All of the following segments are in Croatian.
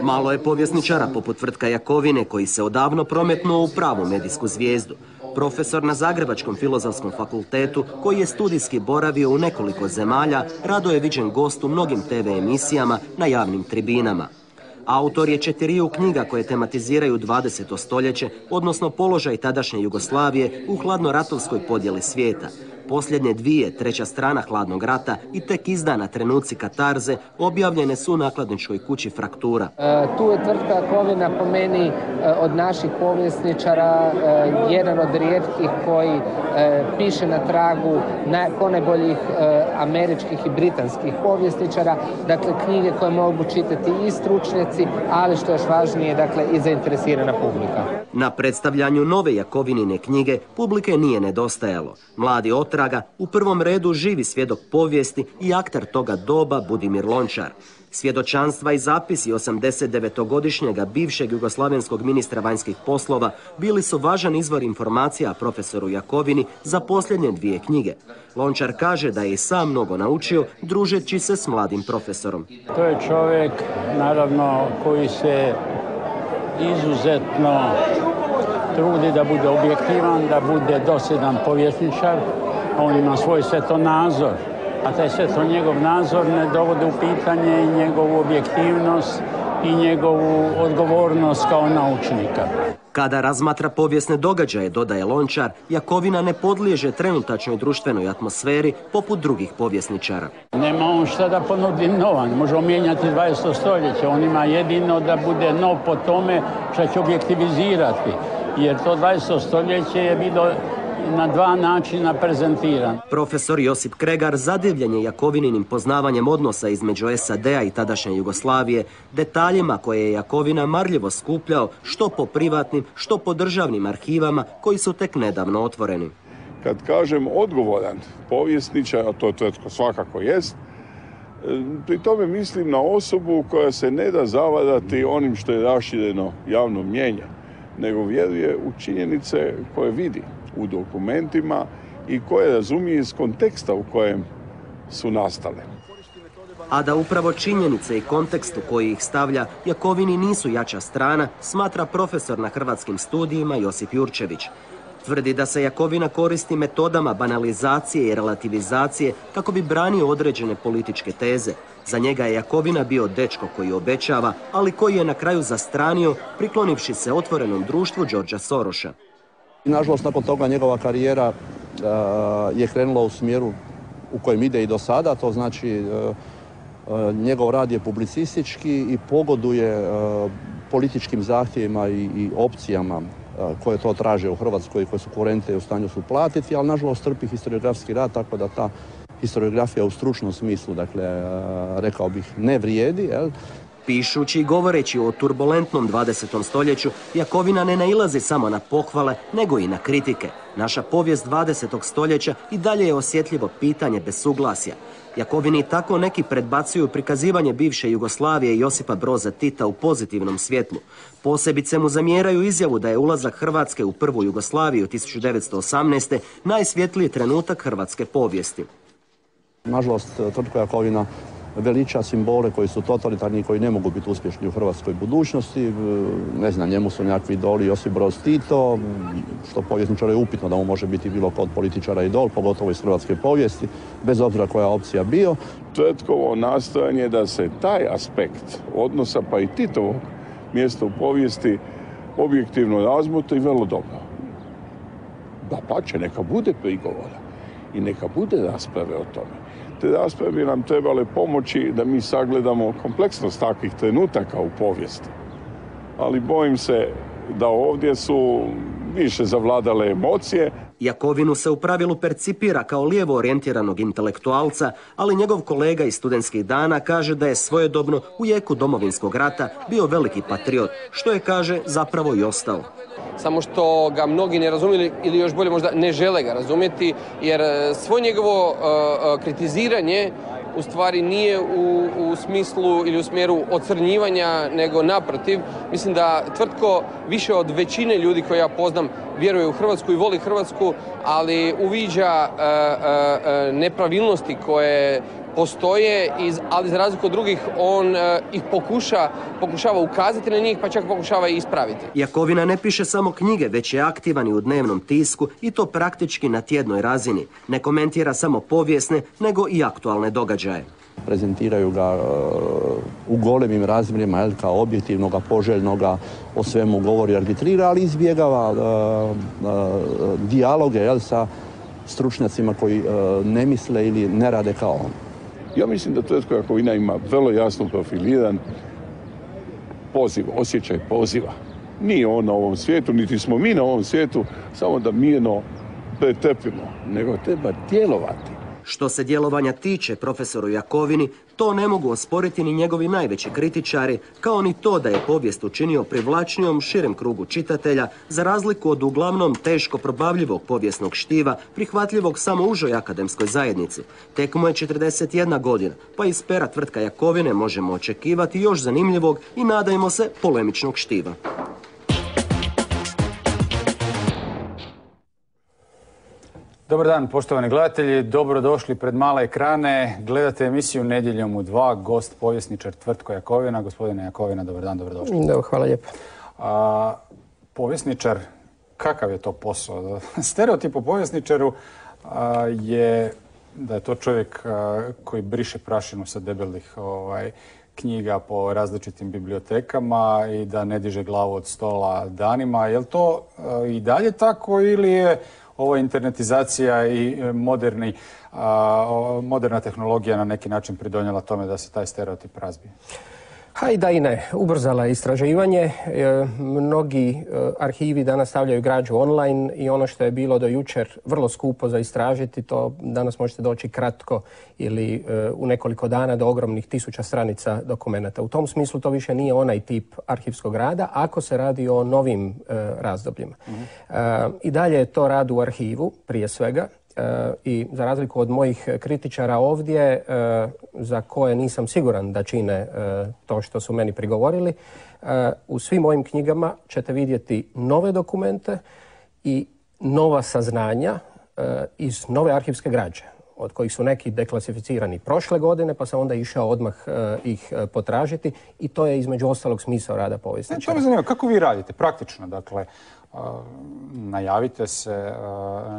Malo je povjesničara poput Tvrtka Jakovine koji se odavno prometnuo u pravu medijsku zvijezdu. Profesor na Zagrebačkom filozofskom fakultetu koji je studijski boravio u nekoliko zemalja, rado je viđen gost u mnogim TV emisijama na javnim tribinama. Autor je 4 knjiga koje tematiziraju 20. stoljeće, odnosno položaj tadašnje Jugoslavije u hladnoratovskoj podjeli svijeta. Posljednje 2, treća strana Hladnog rata i tek izdana Trenuci katarze objavljene su u nakladničkoj kući Fraktura. Tu je Tvrtka Jakovina po meni od naših povjesničara jedan od rijetkih koji piše na tragu ponajboljih američkih i britanskih povjesničara. Dakle, knjige koje mogu čitati i stručnjaci, ali što je još važnije, dakle, i zainteresirana publika. Na predstavljanju nove Jakovinine knjige publike nije nedostajalo. Mladi otraga, u prvom redu živi svjedok povijesti i akter toga doba Budimir Lončar. Svjedočanstva i zapisi 89-godišnjega bivšeg jugoslavenskog ministra vanjskih poslova bili su važan izvor informacija profesoru Jakovini za posljednje 2 knjige. Lončar kaže da je i sam mnogo naučio družeći se s mladim profesorom. To je čovjek, naravno, koji se izuzetno trudi da bude objektivan, da bude dosljedan povjesničar. On ima svoj svjetonazor, a taj njegov nazor ne dovodi u pitanje i njegovu objektivnost i njegovu odgovornost kao naučnika. Kada razmatra povijesne događaje, dodaje Lončar, Jakovina ne podliježe trenutačnoj društvenoj atmosferi poput drugih povjesničara. Nema on šta da ponudi nova, ne može mijenjati 20. stoljeće. On ima jedino da bude nov po tome što će objektivizirati, jer to 20. stoljeće je bilo na 2 načina prezentiran. Profesor Josip Kregar zadivljen je Jakovininim poznavanjem odnosa između SAD-a i tadašnje Jugoslavije, detaljima koje je Jakovina marljivo skupljao što po privatnim, što po državnim arhivama koji su tek nedavno otvoreni. Kad kažem odgovoran povjesničar, a to Tvrtko svakako jest, pri tome mislim na osobu koja se ne da zavarati onim što je rašireno javno mnijenje, nego vjeruje u činjenice koje vidi u dokumentima i koje razumije iz konteksta u kojem su nastale. A da upravo činjenice i kontekst u koji ih stavlja Jakovini nisu jača strana, smatra profesor na Hrvatskim studijima Josip Jurčević. Tvrdi da se Jakovina koristi metodama banalizacije i relativizacije kako bi branio određene političke teze. Za njega je Jakovina bio dečko koji obećava, ali koji je na kraju zastranio, priklonivši se otvorenom društvu Đorđa Soroša. Nažalost, nakon toga njegova karijera je krenula u smjeru u kojem ide i do sada, to znači njegov rad je publicistički i pogoduje političkim zahtjevima i opcijama koje to traže u Hrvatskoj i koje su kurente u stanju su platiti, ali nažalost trpi historiografski rad, tako da ta historiografija u stručnom smislu, dakle, rekao bih, ne vrijedi, jel? Pišući i govoreći o turbulentnom 20. stoljeću, Jakovina ne nailazi samo na pohvale, nego i na kritike. Naša povijest 20. stoljeća i dalje je osjetljivo pitanje bez suglasja. Jakovini tako neki predbacuju prikazivanje bivše Jugoslavije i Josipa Broza Tita u pozitivnom svjetlu. Posebice mu zamjeraju izjavu da je ulazak Hrvatske u prvu Jugoslaviju 1918. najsvjetliji trenutak hrvatske povijesti. Nažalost, Tvrtko Jakovina veliča simbole koji su totalitarni i koji ne mogu biti uspješni u hrvatskoj budućnosti. Ne znam, njemu su nekakvi idoli Josip Broz Tito, što povjesničar je upitno da mu može biti bilo kod političara idol, pogotovo iz hrvatske povijesti, bez obzira koja opcija bio. Tvrtkovo nastojanje da se taj aspekt odnosa, pa i Titovog mjesta u povijesti, objektivno razmotri vrlo dobro. Dapače, neka bude prigovora i neka bude rasprave o tome. Te rasprave bi nam trebale pomoći da mi sagledamo kompleksnost takvih trenutaka u povijesti. Ali bojim se da ovdje su više zavladale emocije. Jakovinu se u pravilu percipira kao lijevo orijentiranog intelektualca, ali njegov kolega iz studentskih dana kaže da je svojedobno u jeku Domovinskog rata bio veliki patriot, što je, kaže, zapravo i ostao. samo što ga mnogi ne razumiju ili još bolje možda ne žele ga razumjeti, jer svo njegovo kritiziranje u stvari nije u smislu ili u smjeru ocrnjivanja, nego naprotiv. Mislim da Tvrtko više od većine ljudi koje ja poznam vjeruje u Hrvatsku i voli Hrvatsku, ali uviđa nepravilnosti koje postoje, ali za razliku od drugih on ih pokušava ukazati na njih, pa čak pokušava i ispraviti. Jakovina ne piše samo knjige, već je aktivan i u dnevnom tisku i to praktički na tjednoj razini. Ne komentira samo povijesne, nego i aktualne događaje. Prezentiraju ga u golemim razmjerima kao objektivnoga, poželjnoga, o svemu govori, arbitrira, ali izbjegava dijaloge sa stručnjacima koji ne misle ili ne rade kao on. Ja mislim da Tvrtko Jakovina ima vrlo jasno profiliran poziv, osjećaj poziva. Nije on na ovom svijetu, niti smo mi na ovom svijetu, samo da mirno pretrpimo, nego treba djelovati. Što se djelovanja tiče profesoru Jakovini, to ne mogu osporiti ni njegovi najveći kritičari, kao ni to da je povijest učinio privlačnijom širem krugu čitatelja, za razliku od uglavnom teško probavljivog povijesnog štiva, prihvatljivog samo užoj akademskoj zajednici. Tek mu je 41 godina, pa iz pera Tvrtka Jakovine možemo očekivati još zanimljivog i, nadajmo se, polemičnog štiva. Dobar dan, poštovani gledatelji, dobrodošli pred male ekrane. Gledate emisiju Nedjeljom u 2, gost povjesničar Tvrtko Jakovina. Gospodine Jakovina, dobar dan, dobrodošli. Hvala lijepo. Povjesničar, kakav je to posao? Stereotip o povjesničaru je da je to čovjek koji briše prašinu sa debelih knjiga po različitim bibliotekama i da ne diže glavu od stola danima. Je li to i dalje tako ili je ova internetizacija i moderna tehnologija na neki način pridonijela tome da se taj stereotip razbije? I da i ne. Ubrzala je istraživanje. Mnogi arhivi danas stavljaju građu online i ono što je bilo do jučer vrlo skupo za istražiti, to danas možete doći kratko ili u nekoliko dana do ogromnih 1000 stranica dokumenata. U tom smislu to više nije onaj tip arhivskog rada ako se radi o novim razdobljima. I dalje je to rad u arhivu, prije svega. I za razliku od mojih kritičara ovdje, za koje nisam siguran da čine to što su meni prigovorili, u svim mojim knjigama ćete vidjeti nove dokumente i nova saznanja iz nove arhivske građe, od kojih su neki deklasificirani prošle godine, pa sam onda išao odmah ih potražiti i to je između ostalog smisao rada povjesničara. To me zanima, kako vi radite praktično? Dakle, najavite se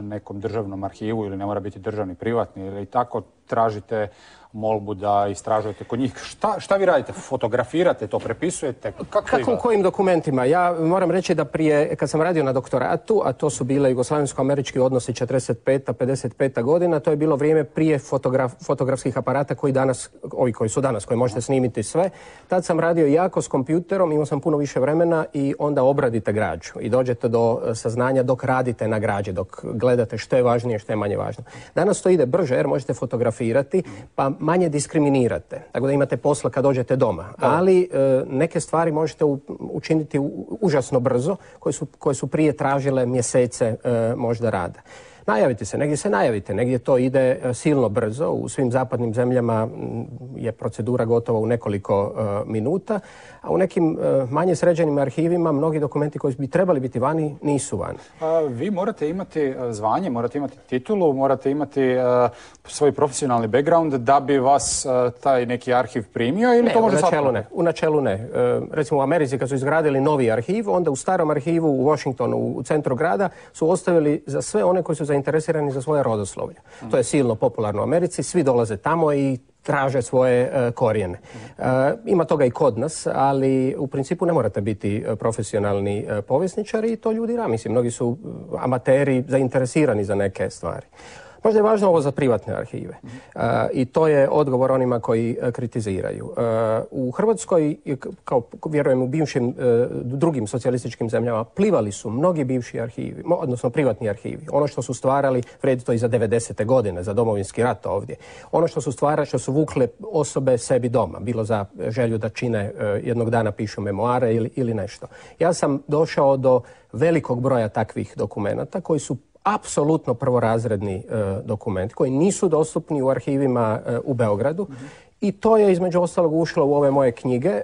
nekom državnom arhivu ili ne mora biti državni, privatni ili tako, tražite molbu da istražujete kod njih. Šta vi radite? Fotografirate to, prepisujete? Kako, kojim dokumentima? Ja moram reći da prije, kad sam radio na doktoratu, a to su bile jugoslavensko-američki odnosi 45. 55. godina, to je bilo vrijeme prije fotografskih aparata koji danas, ovi koji su danas, koji možete snimiti sve. Tad sam radio jako s kompjuterom, imao sam puno više vremena i onda obradite građu i dođete do saznanja dok radite na građi, dok gledate što je važnije, što je manje važno. Danas to ide brže jer možete fotografirati, pa manje diskriminirate, tako da imate posla kad dođete doma. Ali neke stvari možete učiniti užasno brzo, koje su prije tražile mjesece možda rada. Najavite se, negdje se najavite, negdje to ide silno brzo. U svim zapadnim zemljama je procedura gotova u nekoliko minuta, a u nekim manje sređenim arhivima mnogi dokumenti koji bi trebali biti vani nisu vani. Vi morate imati zvanje, morate imati titulu, morate imati svoj profesionalni background da bi vas taj neki arhiv primio ili to može svatko? Ne, u načelu ne. Recimo u Americi kad su izgradili novi arhiv, onda u starom arhivu u Washingtonu, u centru grada, su ostavili za sve one koji su zainteresirani za svoje rodoslovlje. To je silno popularno u Americi, svi dolaze tamo i traže svoje korijene. Ima toga i kod nas, ali u principu ne morate biti profesionalni povjesničari i to ljudi rade. Mislim, mnogi su amateri zainteresirani za neke stvari. Možda je važno ovo za privatne arhive. I to je odgovor onima koji kritiziraju. U Hrvatskoj, kao vjerujem u bivšim drugim socijalističkim zemljama, plivali su mnogi bivši arhivi, odnosno privatni arhivi. Ono što su stvarali, vredi to i za 90. godine, za Domovinski rat ovdje. Ono što su stvarali, što su vukle osobe sebi doma, bilo za želju da čine jednog dana pišu memoare ili nešto. Ja sam došao do velikog broja takvih dokumenata koji su apsolutno prvorazredni dokumenti, koji nisu dostupni u arhivima u Beogradu. I to je između ostalog ušlo u ove moje knjige.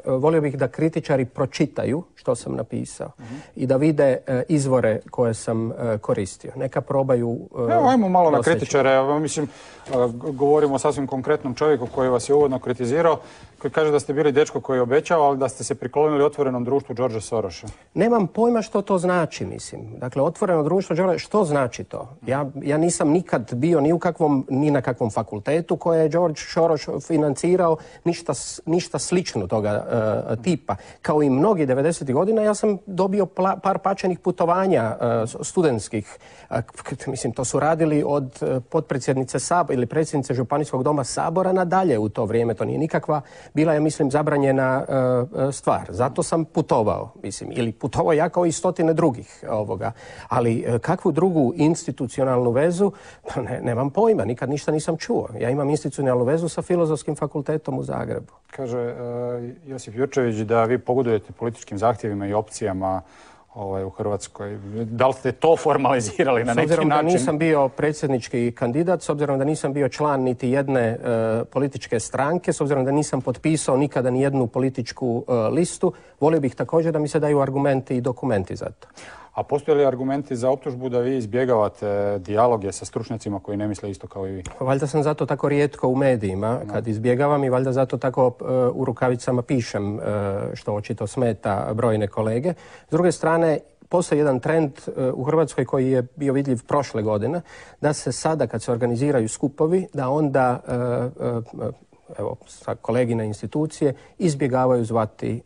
Volio bih da kritičari pročitaju što sam napisao i da vide izvore koje sam koristio. Neka probaju Evo, ajmo malo na doseći. kritičare. Mislim, govorimo o sasvim konkretnom čovjeku koji vas je uvodno kritizirao, koji kaže da ste bili dečko koji je obećao, ali da ste se priklonili otvorenom društvu Georgea Sorosa. Nemam pojma što to znači, mislim. Dakle, otvoreno društvo, što znači to? Ja nisam nikad bio ni na kakvom fakultetu koje je George Soros financirao, ništa slično toga tipa. Kao i mnogi 90. godina, ja sam dobio par pačenih putovanja studentskih. Mislim, to su radili od potpredsjednice Sabora ili predsjednice Županijskog doma Sabora nadalje u to vrijeme. To nije nikakva, bila je, mislim, zabranjena stvar. Zato sam putovao, mislim, ili putovao ja kao i stotine drugih ovoga. Ali kakvu drugu institucionalnu vezu, pa nemam pojma, nikad ništa nisam čuo. Ja imam institucionalnu vezu sa Filozofskim fakultetom u Zagrebu. Kaže Josip Jurčević da vi pogodujete političkim zahtjevima i opcijama u Hrvatskoj. Da li ste to formalizirali na neki način? S obzirom da nisam bio predsjednički kandidat, s obzirom da nisam bio član niti jedne političke stranke, s obzirom da nisam potpisao nikada ni jednu političku listu, volio bih također da mi se daju argumenti i dokumenti za to. A postoje li argumenti za optužbu da vi izbjegavate dijaloge sa stručnjacima koji ne misle isto kao i vi? Valjda sam zato tako rijetko u medijima kad izbjegavam i valjda zato tako u rukavicama pišem, što očito smeta brojne kolege. S druge strane, postoji jedan trend u Hrvatskoj koji je bio vidljiv prošle godine, da se sada kad se organiziraju skupovi, da onda evo, sa kolegine institucije izbjegavaju zvati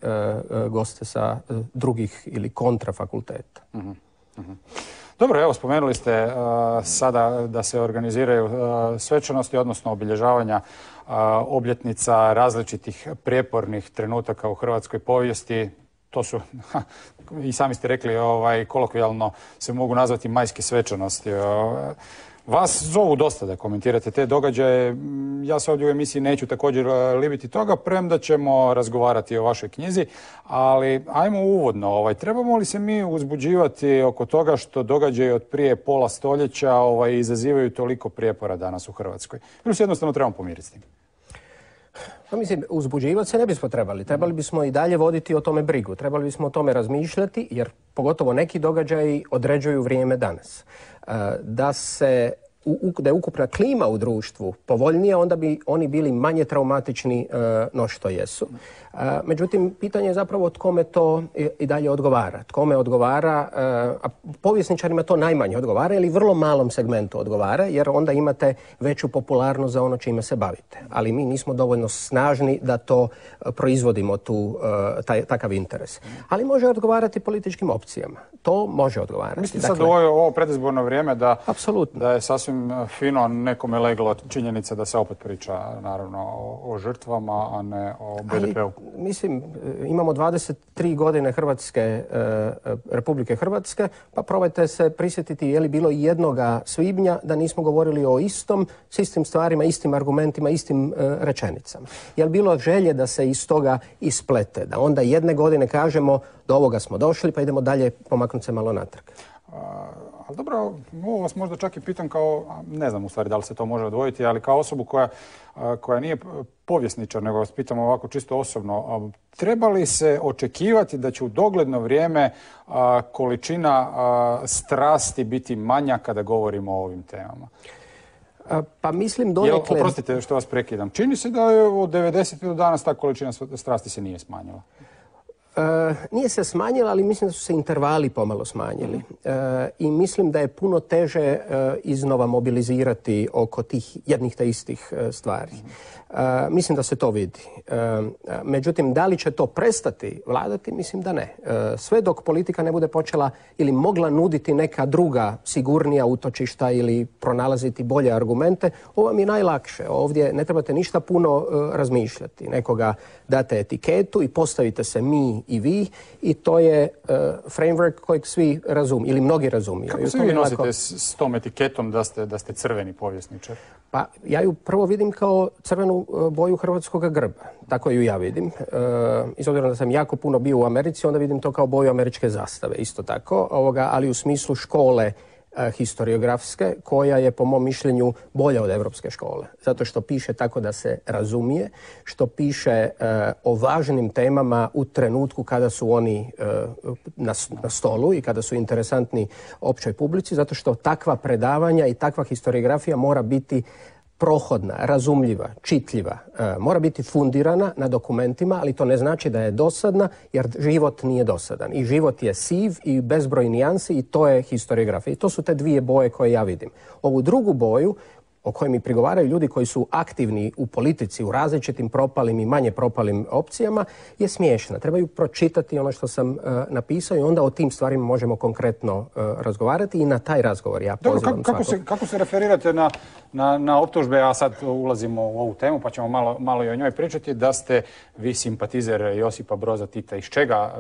goste sa drugih ili kontra fakulteta. Dobro, evo, spomenuli ste sada da se organiziraju svečanosti, odnosno obilježavanja obljetnica različitih prijepornih trenutaka u hrvatskoj povijesti. To su, i sami ste rekli, kolokvijalno se mogu nazvati majske svečanosti. Vas zovu dosta da komentirate te događaje. Ja se ovdje u emisiji neću također libiti toga, premda ćemo razgovarati o vašoj knjizi, ali ajmo uvodno. Trebamo li se mi uzbuđivati oko toga što događaje od prije pola stoljeća izazivaju toliko prijepora danas u Hrvatskoj? Ili se jednostavno trebamo pomiriti s tim? Pa mislim, uzbuđivati se ne bismo trebali. Trebali bismo i dalje voditi o tome brigu. Trebali bismo o tome razmišljati, jer pogotovo neki događaji određuju vrijeme danas. Da je ukupna klima u društvu povoljnija, onda bi oni bili manje traumatični no što jesu. Međutim, pitanje je zapravo kome to i dalje odgovara. Kome odgovara, a povjesničarima to najmanje odgovara ili vrlo malom segmentu odgovara, jer onda imate veću popularnost za ono čime se bavite. Ali mi nismo dovoljno snažni da to proizvodimo takav interes. Ali može odgovarati političkim opcijama. To može odgovarati. Mislim sad u ovo predizborno vrijeme da je sasvim fino nekome leglo činjenica da se opet priča naravno o žrtvama, a ne o BDP-u. Mislim, imamo 23 godine Republike Hrvatske, pa probajte se prisjetiti je li bilo jednoga svibnja da nismo govorili o s istim stvarima, istim argumentima, istim rečenicama. Je li bilo želje da se iz toga isplete, da onda jedne godine kažemo do ovoga smo došli pa idemo dalje pomaknuti se malo natrag? Ali dobro, ovo vas možda čak i pitam kao, ne znam u stvari da li se to može odvojiti, ali kao osobu koja nije povjesničar, nego vas pitam ovako čisto osobno, treba li se očekivati da će u dogledno vrijeme količina strasti biti manja kada govorimo o ovim temama? Pa mislim donekle... Oprostite što vas prekidam. Čini se da je od 90. do danas ta količina strasti se nije smanjila. Nije se smanjila, ali mislim da su se intervali pomalo smanjili. I mislim da je puno teže iznova mobilizirati oko tih jednih te istih stvari. Mislim da se to vidi. Međutim, da li će to prestati vladati? Mislim da ne. Sve dok politika ne bude počela ili mogla nuditi neka druga sigurnija utočišta ili pronalaziti bolje argumente, ovo vam je najlakše. Ovdje ne trebate ništa puno razmišljati. Nekoga date etiketu i postavite se mi i vi i to je framework kojeg svi razumiju ili mnogi razumiju. Kako se vi nosite s tom etiketom da ste crveni povjesničar? Pa ja ju prvo vidim kao crvenu boju hrvatskog grba. Tako ju ja vidim. I s obzirom da sam jako puno bio u Americi, onda vidim to kao boju američke zastave. Isto tako, ali u smislu škole historiografske, koja je po mom mišljenju bolja od evropske škole. Zato što piše tako da se razumije, što piše o važnim temama u trenutku kada su oni na stolu i kada su interesantni općoj publici, zato što takva predavanja i takva historiografija mora biti prohodna, razumljiva, čitljiva, mora biti fundirana na dokumentima, ali to ne znači da je dosadna, jer život nije dosadan. I život je siv i bezbroj nijansi i to je historiografija. I to su te dvije boje koje ja vidim. Ovu drugu boju, o kojoj mi prigovaraju ljudi koji su aktivni u politici, u različitim propalim i manje propalim opcijama, je smiješna. Trebaju pročitati ono što sam napisao i onda o tim stvarima možemo konkretno razgovarati i na taj razgovor ja pozivam svakog. Kako se referirate na optužbe, a sad ulazimo u ovu temu pa ćemo malo i o njoj pričati, da ste vi simpatizer Josipa Broza Tita. Iz čega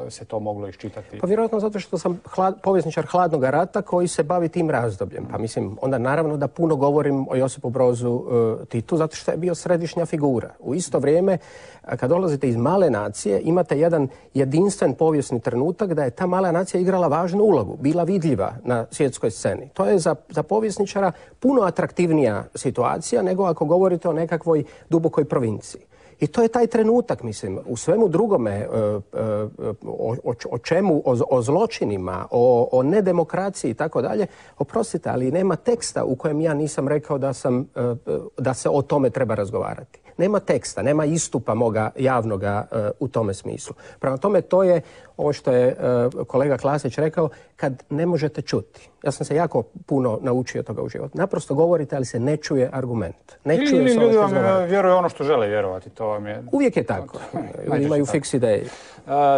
se to moglo iščitati? Pa vjerojatno zato što sam povjesničar hladnog rata koji se bavi tim razdobljem. Pa mislim, onda naravno da puno govorim o Josipu Brozu Titu, zato što je bio središnja figura. U isto vrijeme, kad dolazite iz male nacije, imate jedan jedinstven povijesni trenutak da je ta mala nacija igrala važnu ulogu, bila vidljiva na svjetskoj sceni. To je za povjesničara puno atraktivnija situacija nego ako govorite o nekakvoj dubokoj provinciji. I to je taj trenutak, mislim, u svemu drugome, o čemu, o zločinima, o nedemokraciji i tako dalje, oprostite, ali nema teksta u kojem ja nisam rekao da se o tome treba razgovarati. Nema teksta, nema istupa moga javnoga u tome smislu. Prema tome, to je ovo što je kolega Klasić rekao, kad ne možete čuti. Ja sam se jako puno naučio toga u životu. Naprosto govorite, ali se ne čuje argument. Ili ljudi vam vjeruju ono što žele vjerovati. To vam je... Uvijek je tako. Ljudi imaju fiks ideje.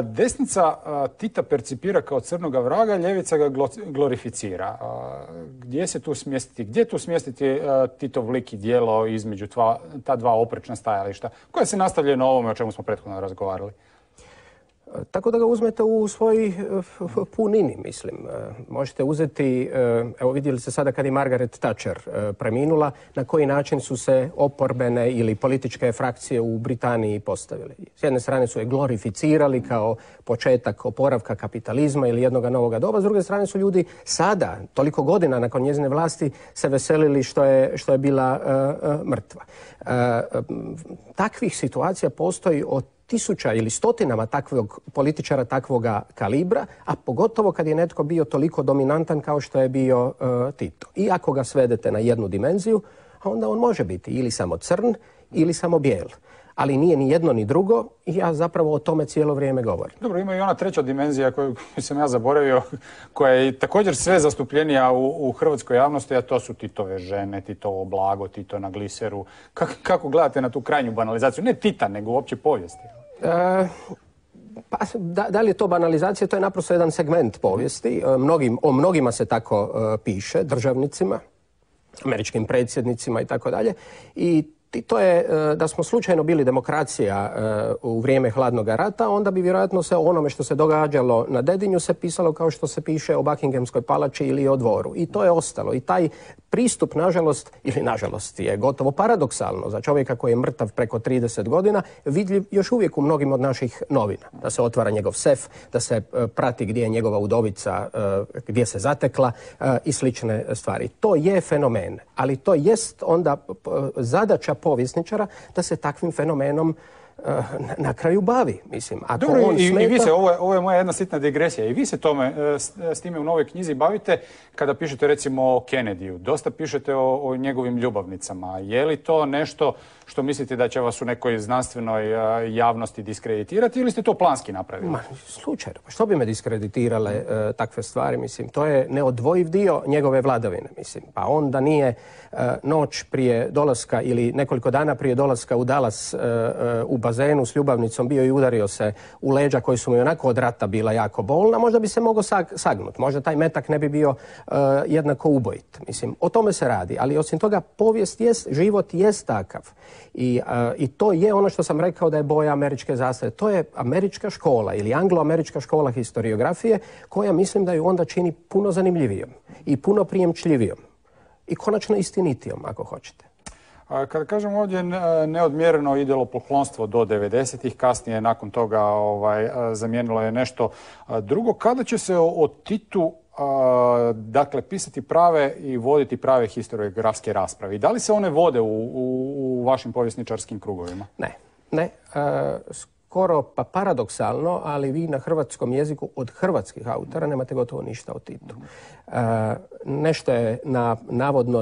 Desnica Tita percipira kao crnoga vraga, ljevica ga glorificira. Gdje se tu smjestiti? Gdje tu smjestiti Titov lik i djelo između ta dva oprečna stajališta, koja se nastavljaju na ovome o čemu smo prethodno razgovarali? Tako da ga uzmete u svoj punini, mislim. Možete uzeti, evo vidjeli ste sada kad je Margaret Thatcher preminula, na koji način su se oporbene ili političke frakcije u Britaniji postavili. S jedne strane su je glorificirali kao početak oporavka kapitalizma ili jednoga novoga doba, s druge strane su ljudi sada, toliko godina nakon njezine vlasti, se veselili što je bila mrtva. Takvih situacija postoji od tisuća ili stotinama takvog političara takvoga kalibra, a pogotovo kad je netko bio toliko dominantan kao što je bio Tito. I ako ga svedete na jednu dimenziju, onda on može biti ili samo crn ili samo bijel. Ali nije ni jedno ni drugo i ja zapravo o tome cijelo vrijeme govorim. Dobro, ima i ona treća dimenzija koju sam ja zaboravio, koja je također sve zastupljenija u hrvatskoj javnosti, a to su Titove žene, Titovo blago, Tito na gliseru. Kako gledate na tu krajnju banalizaciju? Ne Tita, nego uopće povijesti. Pa, da li je to banalizacija? To je naprosto jedan segment povijesti. O mnogima se tako piše, državnicima, američkim predsjednicima i tako dalje. I to je, da smo slučajno bili demokracija u vrijeme hladnog rata, onda bi vjerojatno se o onome što se događalo na Dedinju se pisalo kao što se piše o Buckinghamskoj palači ili o dvoru. I to je ostalo. I taj pristup, nažalost, je gotovo paradoksalno za čovjeka koji je mrtav preko 30 godina, vidljiv još uvijek u mnogim od naših novina. Da se otvara njegov sef, da se prati gdje je njegova udovica, gdje se zatekla i slične stvari. To je fenomen, ali to jest onda zadaća povjesničara da se takvim fenomenom na kraju bavi. Mislim, ako dobro, on smeta... i vi se, ovo je moja jedna sitna digresija, i vi se s time u novoj knjizi bavite kada pišete recimo o Kennedyu. Dosta pišete o njegovim ljubavnicama. Je li to nešto što mislite da će vas u nekoj znanstvenoj javnosti diskreditirati ili ste to planski napravili? Ma, slučajno. Što bi me diskreditirale takve stvari? Mislim, to je neodvojiv dio njegove vladavine. Mislim, pa on da nije noć prije dolaska ili nekoliko dana prije dolaska u Dallas u bazenu s ljubavnicom bio i udario se u leđa koji su mu onako od rata bila jako bolna, možda bi se mogao sagnuti. Možda taj metak ne bi bio jednako ubojit. Mislim, o tome se radi. Ali osim toga, povijest jest, život jest takav. I to je ono što sam rekao da je boja američke zastave. To je američka škola ili anglo-američka škola historiografije koja mislim da ju onda čini puno zanimljivijom i puno prijemčljivijom i konačno istinitijom, ako hoćete. Kada kažem ovdje neodmjereno idolopoklonstvo do 90-ih, kasnije nakon toga zamijenilo je nešto drugo. Kada će se o Titu dakle pisati prave i voditi prave historiografske rasprave? I da li se one vode u vašim povjesničarskim krugovima? Ne. Skoro pa paradoksalno, ali vi na hrvatskom jeziku od hrvatskih autora nemate gotovo ništa o Titu. Nešto je navodno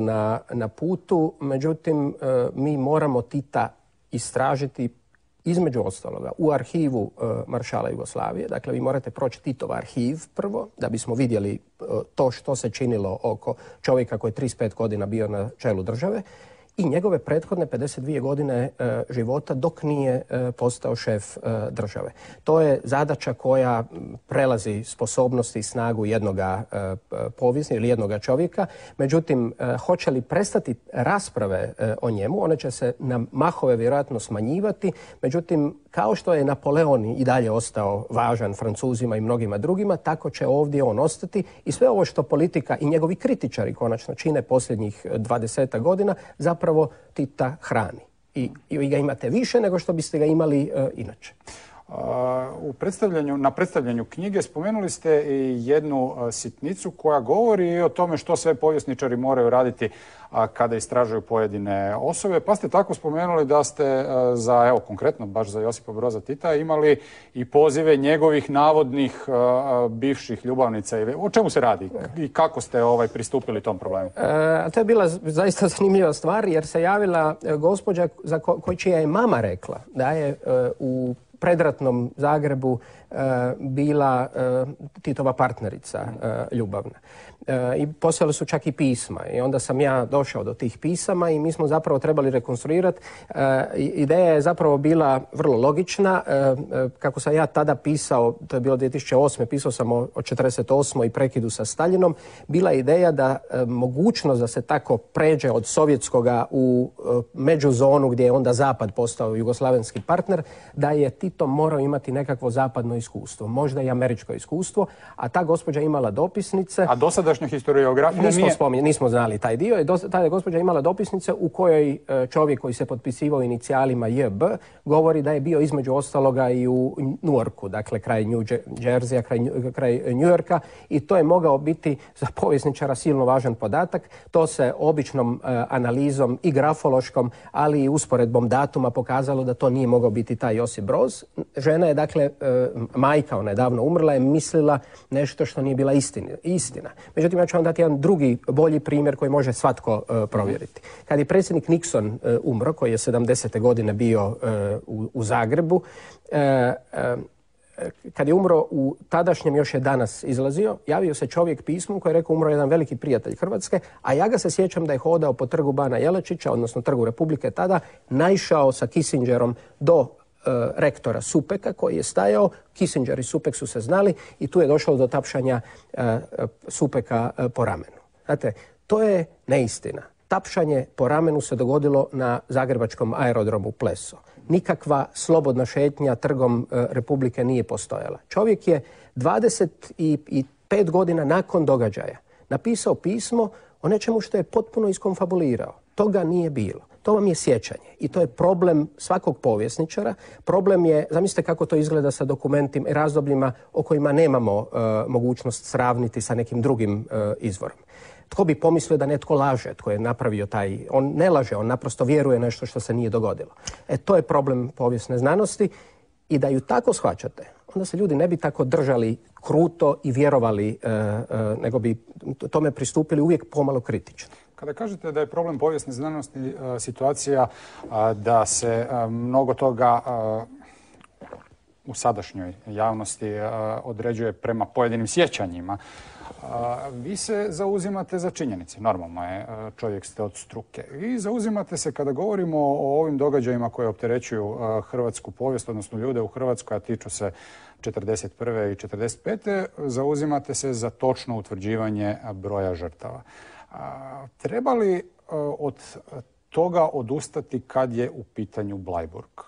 na putu, međutim mi moramo Tita istražiti između ostaloga u arhivu Maršala Jugoslavije. Dakle, vi morate proći Titov arhiv prvo, da bismo vidjeli to što se činilo oko čovjeka koji je 35 godina bio na čelu države i njegove prethodne 52 godine života dok nije postao šef države. To je zadaća koja prelazi sposobnosti i snagu jednoga povjesnika ili jednoga čovjeka. Međutim, hoće li prestati rasprave o njemu, one će se na mahove vjerojatno smanjivati. Međutim, kao što je Napoleon i dalje ostao važan Francuzima i mnogima drugima, tako će ovdje on ostati i sve ovo što politika i njegovi kritičari konačno čine posljednjih 20 godina zapravo Tita hrani. I ga imate više nego što biste ga imali inače. Na predstavljanju knjige spomenuli ste i jednu sitnicu koja govori i o tome što sve povjesničari moraju raditi kada istražuju pojedine osobe. Pa ste tako spomenuli da ste konkretno baš za Josipa Broza Tita imali i pozive njegovih navodnih bivših ljubavnica. O čemu se radi i kako ste pristupili tom problemu? To je bila zaista zanimljiva stvar jer se javila gospođa čija je mama rekla da je u predratnom Zagrebu bila Titova partnerica ljubavna. I poslali su čak i pisma. I onda sam ja došao do tih pisama i mi smo zapravo trebali rekonstruirati. Ideja je zapravo bila vrlo logična. Kako sam ja tada pisao, to je bilo 2008. Pisao sam o 48. i prekidu sa Staljinom. Bila je ideja da mogućnost da se tako pređe od sovjetskoga u međuzonu gdje je onda Zapad postao jugoslavenski partner, da je Tito morao imati nekakvo zapadno iskustvo, možda i američko iskustvo, a ta gospođa imala dopisnice. A dosadašnja historiografija nismo znali taj dio. Ta je gospođa imala dopisnice u kojoj čovjek koji se potpisivao inicijalima JB govori da je bio između ostaloga i u Newarku, dakle kraj New Jerseya, kraj New Yorka, i to je mogao biti za povjesničara silno važan podatak. To se običnom analizom i grafološkom, ali i usporedbom datuma pokazalo da to nije mogao biti taj Josip Broz. Žena je, dakle, majka, ona je davno umrla, je mislila nešto što nije bila istina. Međutim, ja ću vam dati jedan drugi, bolji primjer koji može svatko provjeriti. Kad je predsjednik Nixon umro, koji je 70. godine bio u Zagrebu, kad je umro u tadašnjem, još je danas izlazio, javio se čovjek pismom koji je rekao umro jedan veliki prijatelj Hrvatske, a ja ga se sjećam da je hodao po trgu Bana Jelačića, odnosno trgu Republike tada, naišao sa Kissingerom do rektora Supeka koji je stajao. Kissinger i Supek su se znali i tu je došlo do tapšanja Supeka po ramenu. Znate, to je neistina. Tapšanje po ramenu se dogodilo na zagrebačkom aerodromu Pleso. Nikakva slobodna šetnja trgom Republike nije postojala. Čovjek je 25 godina nakon događaja napisao pismo o nečemu što je potpuno iskonfabulirao. Toga nije bilo. To vam je sjećanje i to je problem svakog povjesničara. Problem je, zamislite kako to izgleda sa dokumentima i razdobljima o kojima nemamo mogućnost sravniti sa nekim drugim izvorom. Tko bi pomislio da netko laže, tko je napravio taj... On ne laže, on naprosto vjeruje nešto što se nije dogodilo. To je problem povijesne znanosti i da ju tako shvaćate, onda se ljudi ne bi tako držali kruto i vjerovali, nego bi tome pristupili uvijek pomalo kritično. Kada kažete da je problem povijesne znanosti situacija da se mnogo toga u sadašnjoj javnosti određuje prema pojedinim sjećanjima, vi se zauzimate za činjenice. Normalno je, čovjek ste od struke. I zauzimate se kada govorimo o ovim događajima koje opterećuju hrvatsku povijest, odnosno ljude u Hrvatskoj, a tiču se 1941. i 1945. Zauzimate se za točno utvrđivanje broja žrtava. Treba li od toga odustati kad je u pitanju Bleiburg?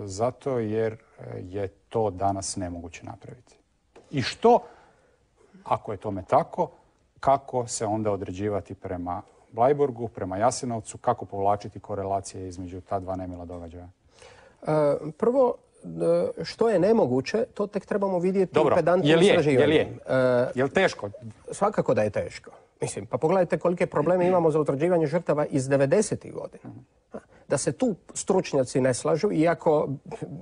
Zato jer je to danas nemoguće napraviti. I što, ako je tome tako, kako se onda određivati prema Bleiburgu, prema Jasenovcu, kako povlačiti korelacije između ta dva nemila događaja? Prvo, što je nemoguće, to tek trebamo vidjeti u pedantnom istraživanju. Je li teško? Svakako da je teško. Mislim, pa pogledajte kolike probleme imamo za utvrđivanje žrtava iz 90. godina. Da se tu stručnjaci ne slažu, iako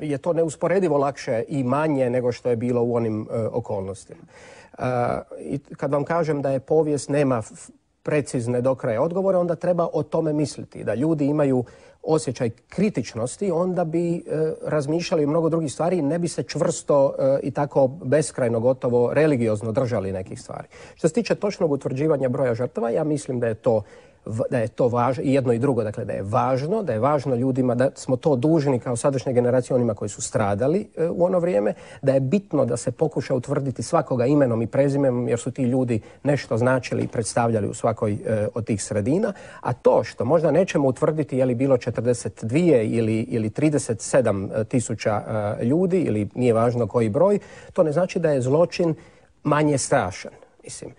je to neusporedivo lakše i manje nego što je bilo u onim okolnostima. I kad vam kažem da je povijest nema precizne do kraja odgovore, onda treba o tome misliti. Da ljudi imaju osjećaj kritičnosti, onda bi razmišljali o mnogo drugih stvari i ne bi se čvrsto i tako beskrajno gotovo religiozno držali nekih stvari. Što se tiče točnog utvrđivanja broja žrtava, ja mislim da je to važno, i jedno i drugo, dakle da je važno ljudima, da smo to dužni kao sadašnje generacije onima koji su stradali u ono vrijeme, da je bitno da se pokuša utvrditi svakoga imenom i prezimenom jer su ti ljudi nešto značili i predstavljali u svakoj od tih sredina, a to što možda nećemo utvrditi je li bilo 42 ili 37 tisuća ljudi ili nije važno koji broj, to ne znači da je zločin manje strašan. Mislim,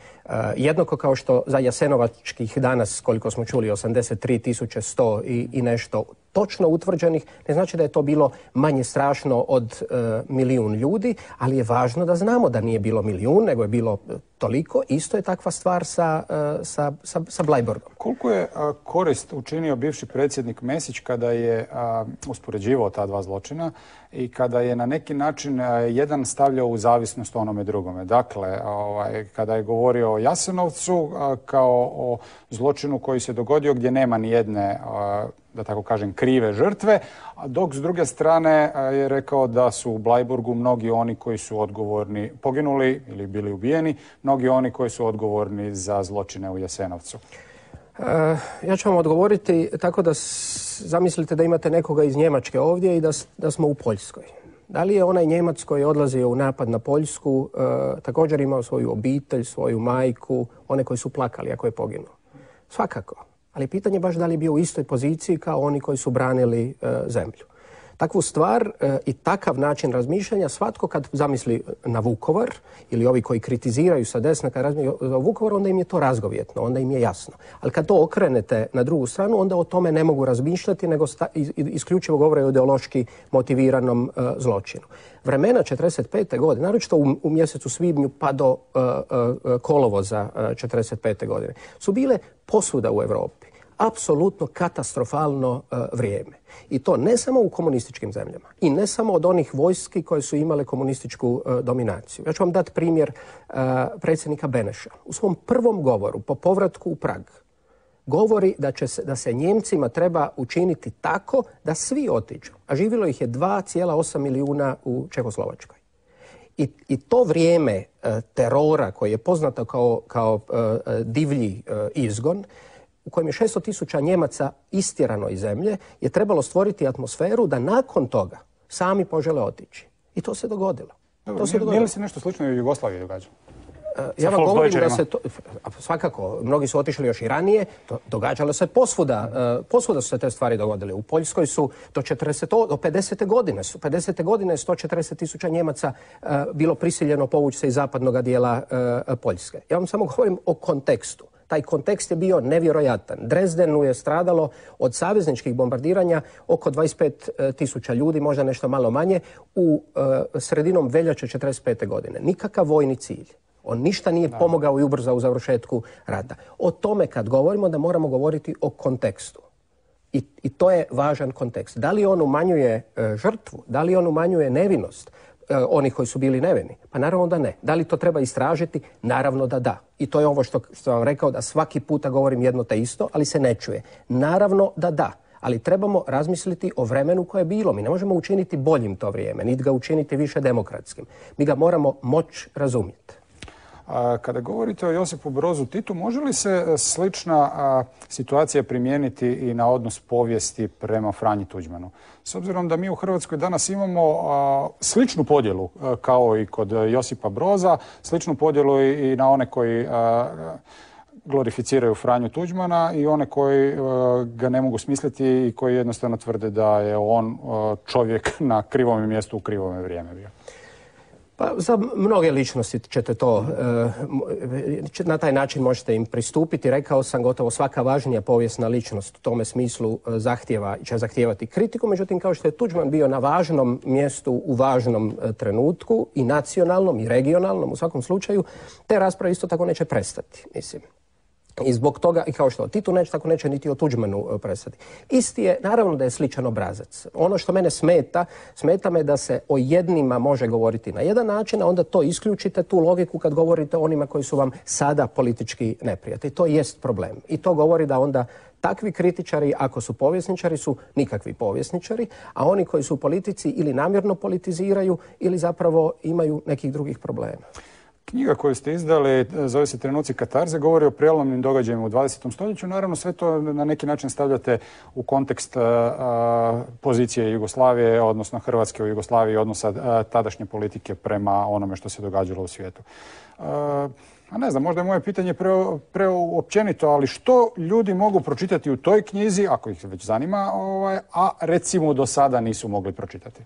jednako kao što za jasenovačkih danas, koliko smo čuli, 83.100 i nešto točno utvrđenih, ne znači da je to bilo manje strašno od 1.000.000 ljudi, ali je važno da znamo da nije bilo 1.000.000, nego je bilo toliko. Isto je takva stvar sa Bleiburgom. Koliko je korist učinio bivši predsjednik Mesić kada je uspoređivao ta dva zločina i kada je na neki način jedan stavljao u zavisnost onome drugome? Dakle, kada je govorio o Jasenovcu kao o zločinu koji se dogodio gdje nema ni jedne, da tako kažem, krive žrtve, dok s druge strane je rekao da su u Bleiburgu mnogi oni koji su odgovorni, poginuli ili bili ubijeni, mnogi oni koji su odgovorni za zločine u Jasenovcu. Ja ću vam odgovoriti tako da zamislite da imate nekoga iz Njemačke ovdje i da smo u Poljskoj. Da li je onaj Njemac koji je odlazio u napad na Poljsku također imao svoju obitelj, svoju majku, one koji su plakali ako je poginuo? Svakako. Ali pitanje je baš da li je bio u istoj poziciji kao oni koji su branili zemlju. Takvu stvar i takav način razmišljanja svatko kad zamisli na Vukovar ili ovi koji kritiziraju sa desna kad razmišljaju za Vukovar, onda im je to razgovjetno, onda im je jasno. Ali kad to okrenete na drugu stranu, onda o tome ne mogu razmišljati, nego isključivo govore o ideološki motiviranom zločinu. Vremena 1945. godine, naročito u mjesecu svibnju pa do kolovoza 1945. godine, su bile posvuda u Europi. Apsolutno katastrofalno vrijeme. I to ne samo u komunističkim zemljama i ne samo od onih vojski koje su imale komunističku dominaciju. Ja ću vam dati primjer predsjednika Beneša. U svom prvom govoru po povratku u Prag govori da se Njemcima treba učiniti tako da svi otiđu. A živjelo ih je 2,8 milijuna u Čehoslovačkoj. I to vrijeme terora koje je poznato kao divlji izgon, u kojem je 600.000 Njemaca istjerano iz zemlje, je trebalo stvoriti atmosferu da nakon toga sami požele otići. I to se dogodilo. Nije li se nešto slično i u Jugoslaviji događalo? Ja vam govorim da se to... Svakako, mnogi su otišli još i ranije. Događalo se posvuda. Posvuda su se te stvari dogodile. U Poljskoj su do 50. godine. 50. godine je 140.000 Njemaca bilo prisiljeno povući se iz zapadnog dijela Poljske. Ja vam samo govorim o kontekstu. Taj kontekst je bio nevjerojatan. Dresdenu je stradalo od savezničkih bombardiranja oko 25.000 ljudi, možda nešto malo manje, u sredinom veljače 1945. godine. Nikakav vojni cilj. On ništa nije pomogao i ubrzao u završetku rata. O tome kad govorimo da moramo govoriti o kontekstu. I to je važan kontekst. Da li on umanjuje žrtvu? Da li on umanjuje nevinost onih koji su bili nevini? Pa naravno da ne. Da li to treba istražiti? Naravno da da. I to je ovo što sam vam rekao, da svaki puta govorim jedno te isto, ali se ne čuje. Naravno da da. Ali trebamo razmisliti o vremenu koje je bilo. Mi ne možemo učiniti boljim to vrijeme, niti ga učiniti više demokratskim. Mi ga moramo moći razumjeti. Kada govorite o Josipu Brozu Titu, može li se slična situacija primijeniti i na odnos povijesti prema Franji Tuđmanu? S obzirom da mi u Hrvatskoj danas imamo sličnu podjelu kao i kod Josipa Broza, sličnu podjelu i na one koji glorificiraju Franju Tuđmana i one koji ga ne mogu smisliti i koji jednostavno tvrde da je on čovjek na krivome mjestu u krivome vrijeme bio. Pa za mnoge ličnosti ćete to, na taj način možete im pristupiti. Rekao sam, gotovo svaka važnija povijesna ličnost u tome smislu će zahtijevati kritiku. Međutim, kao što je Tuđman bio na važnom mjestu u važnom trenutku, i nacionalnom i regionalnom, u svakom slučaju, te rasprave isto tako neće prestati, mislim. I zbog toga, i kao što o Titu neće, tako neće niti o Tuđmanu prestati. Isti je, naravno da je sličan obrazac. Ono što mene smeta me da se o jednima može govoriti na jedan način, a onda to isključite, tu logiku, kad govorite o onima koji su vam sada politički neprijatelji. To jest problem. I to govori da onda takvi kritičari, ako su povjesničari, su nikakvi povjesničari, a oni koji su u politici ili namjerno politiziraju ili zapravo imaju nekih drugih problema. Knjiga koju ste izdali, zove se Trenuci katarze, govori o prijelomnim događajima u 20. stoljeću. Naravno, sve to na neki način stavljate u kontekst pozicije Jugoslavije, odnosno Hrvatske u Jugoslaviji, odnosa tadašnje politike prema onome što se događalo u svijetu. A ne znam, možda je moje pitanje preopćenito, ali što ljudi mogu pročitati u toj knjizi, ako ih već zanima, a recimo do sada nisu mogli pročitati?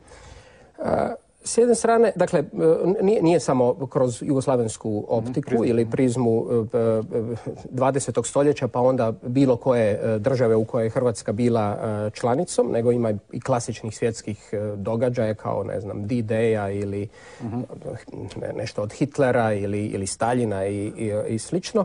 S jedne strane, dakle, nije samo kroz jugoslavensku optiku ili prizmu 20. stoljeća, pa onda bilo koje države u kojoj je Hrvatska bila članicom, nego ima i klasičnih svjetskih događaja kao, ne znam, D-Day-a ili nešto od Hitlera ili Staljina i slično.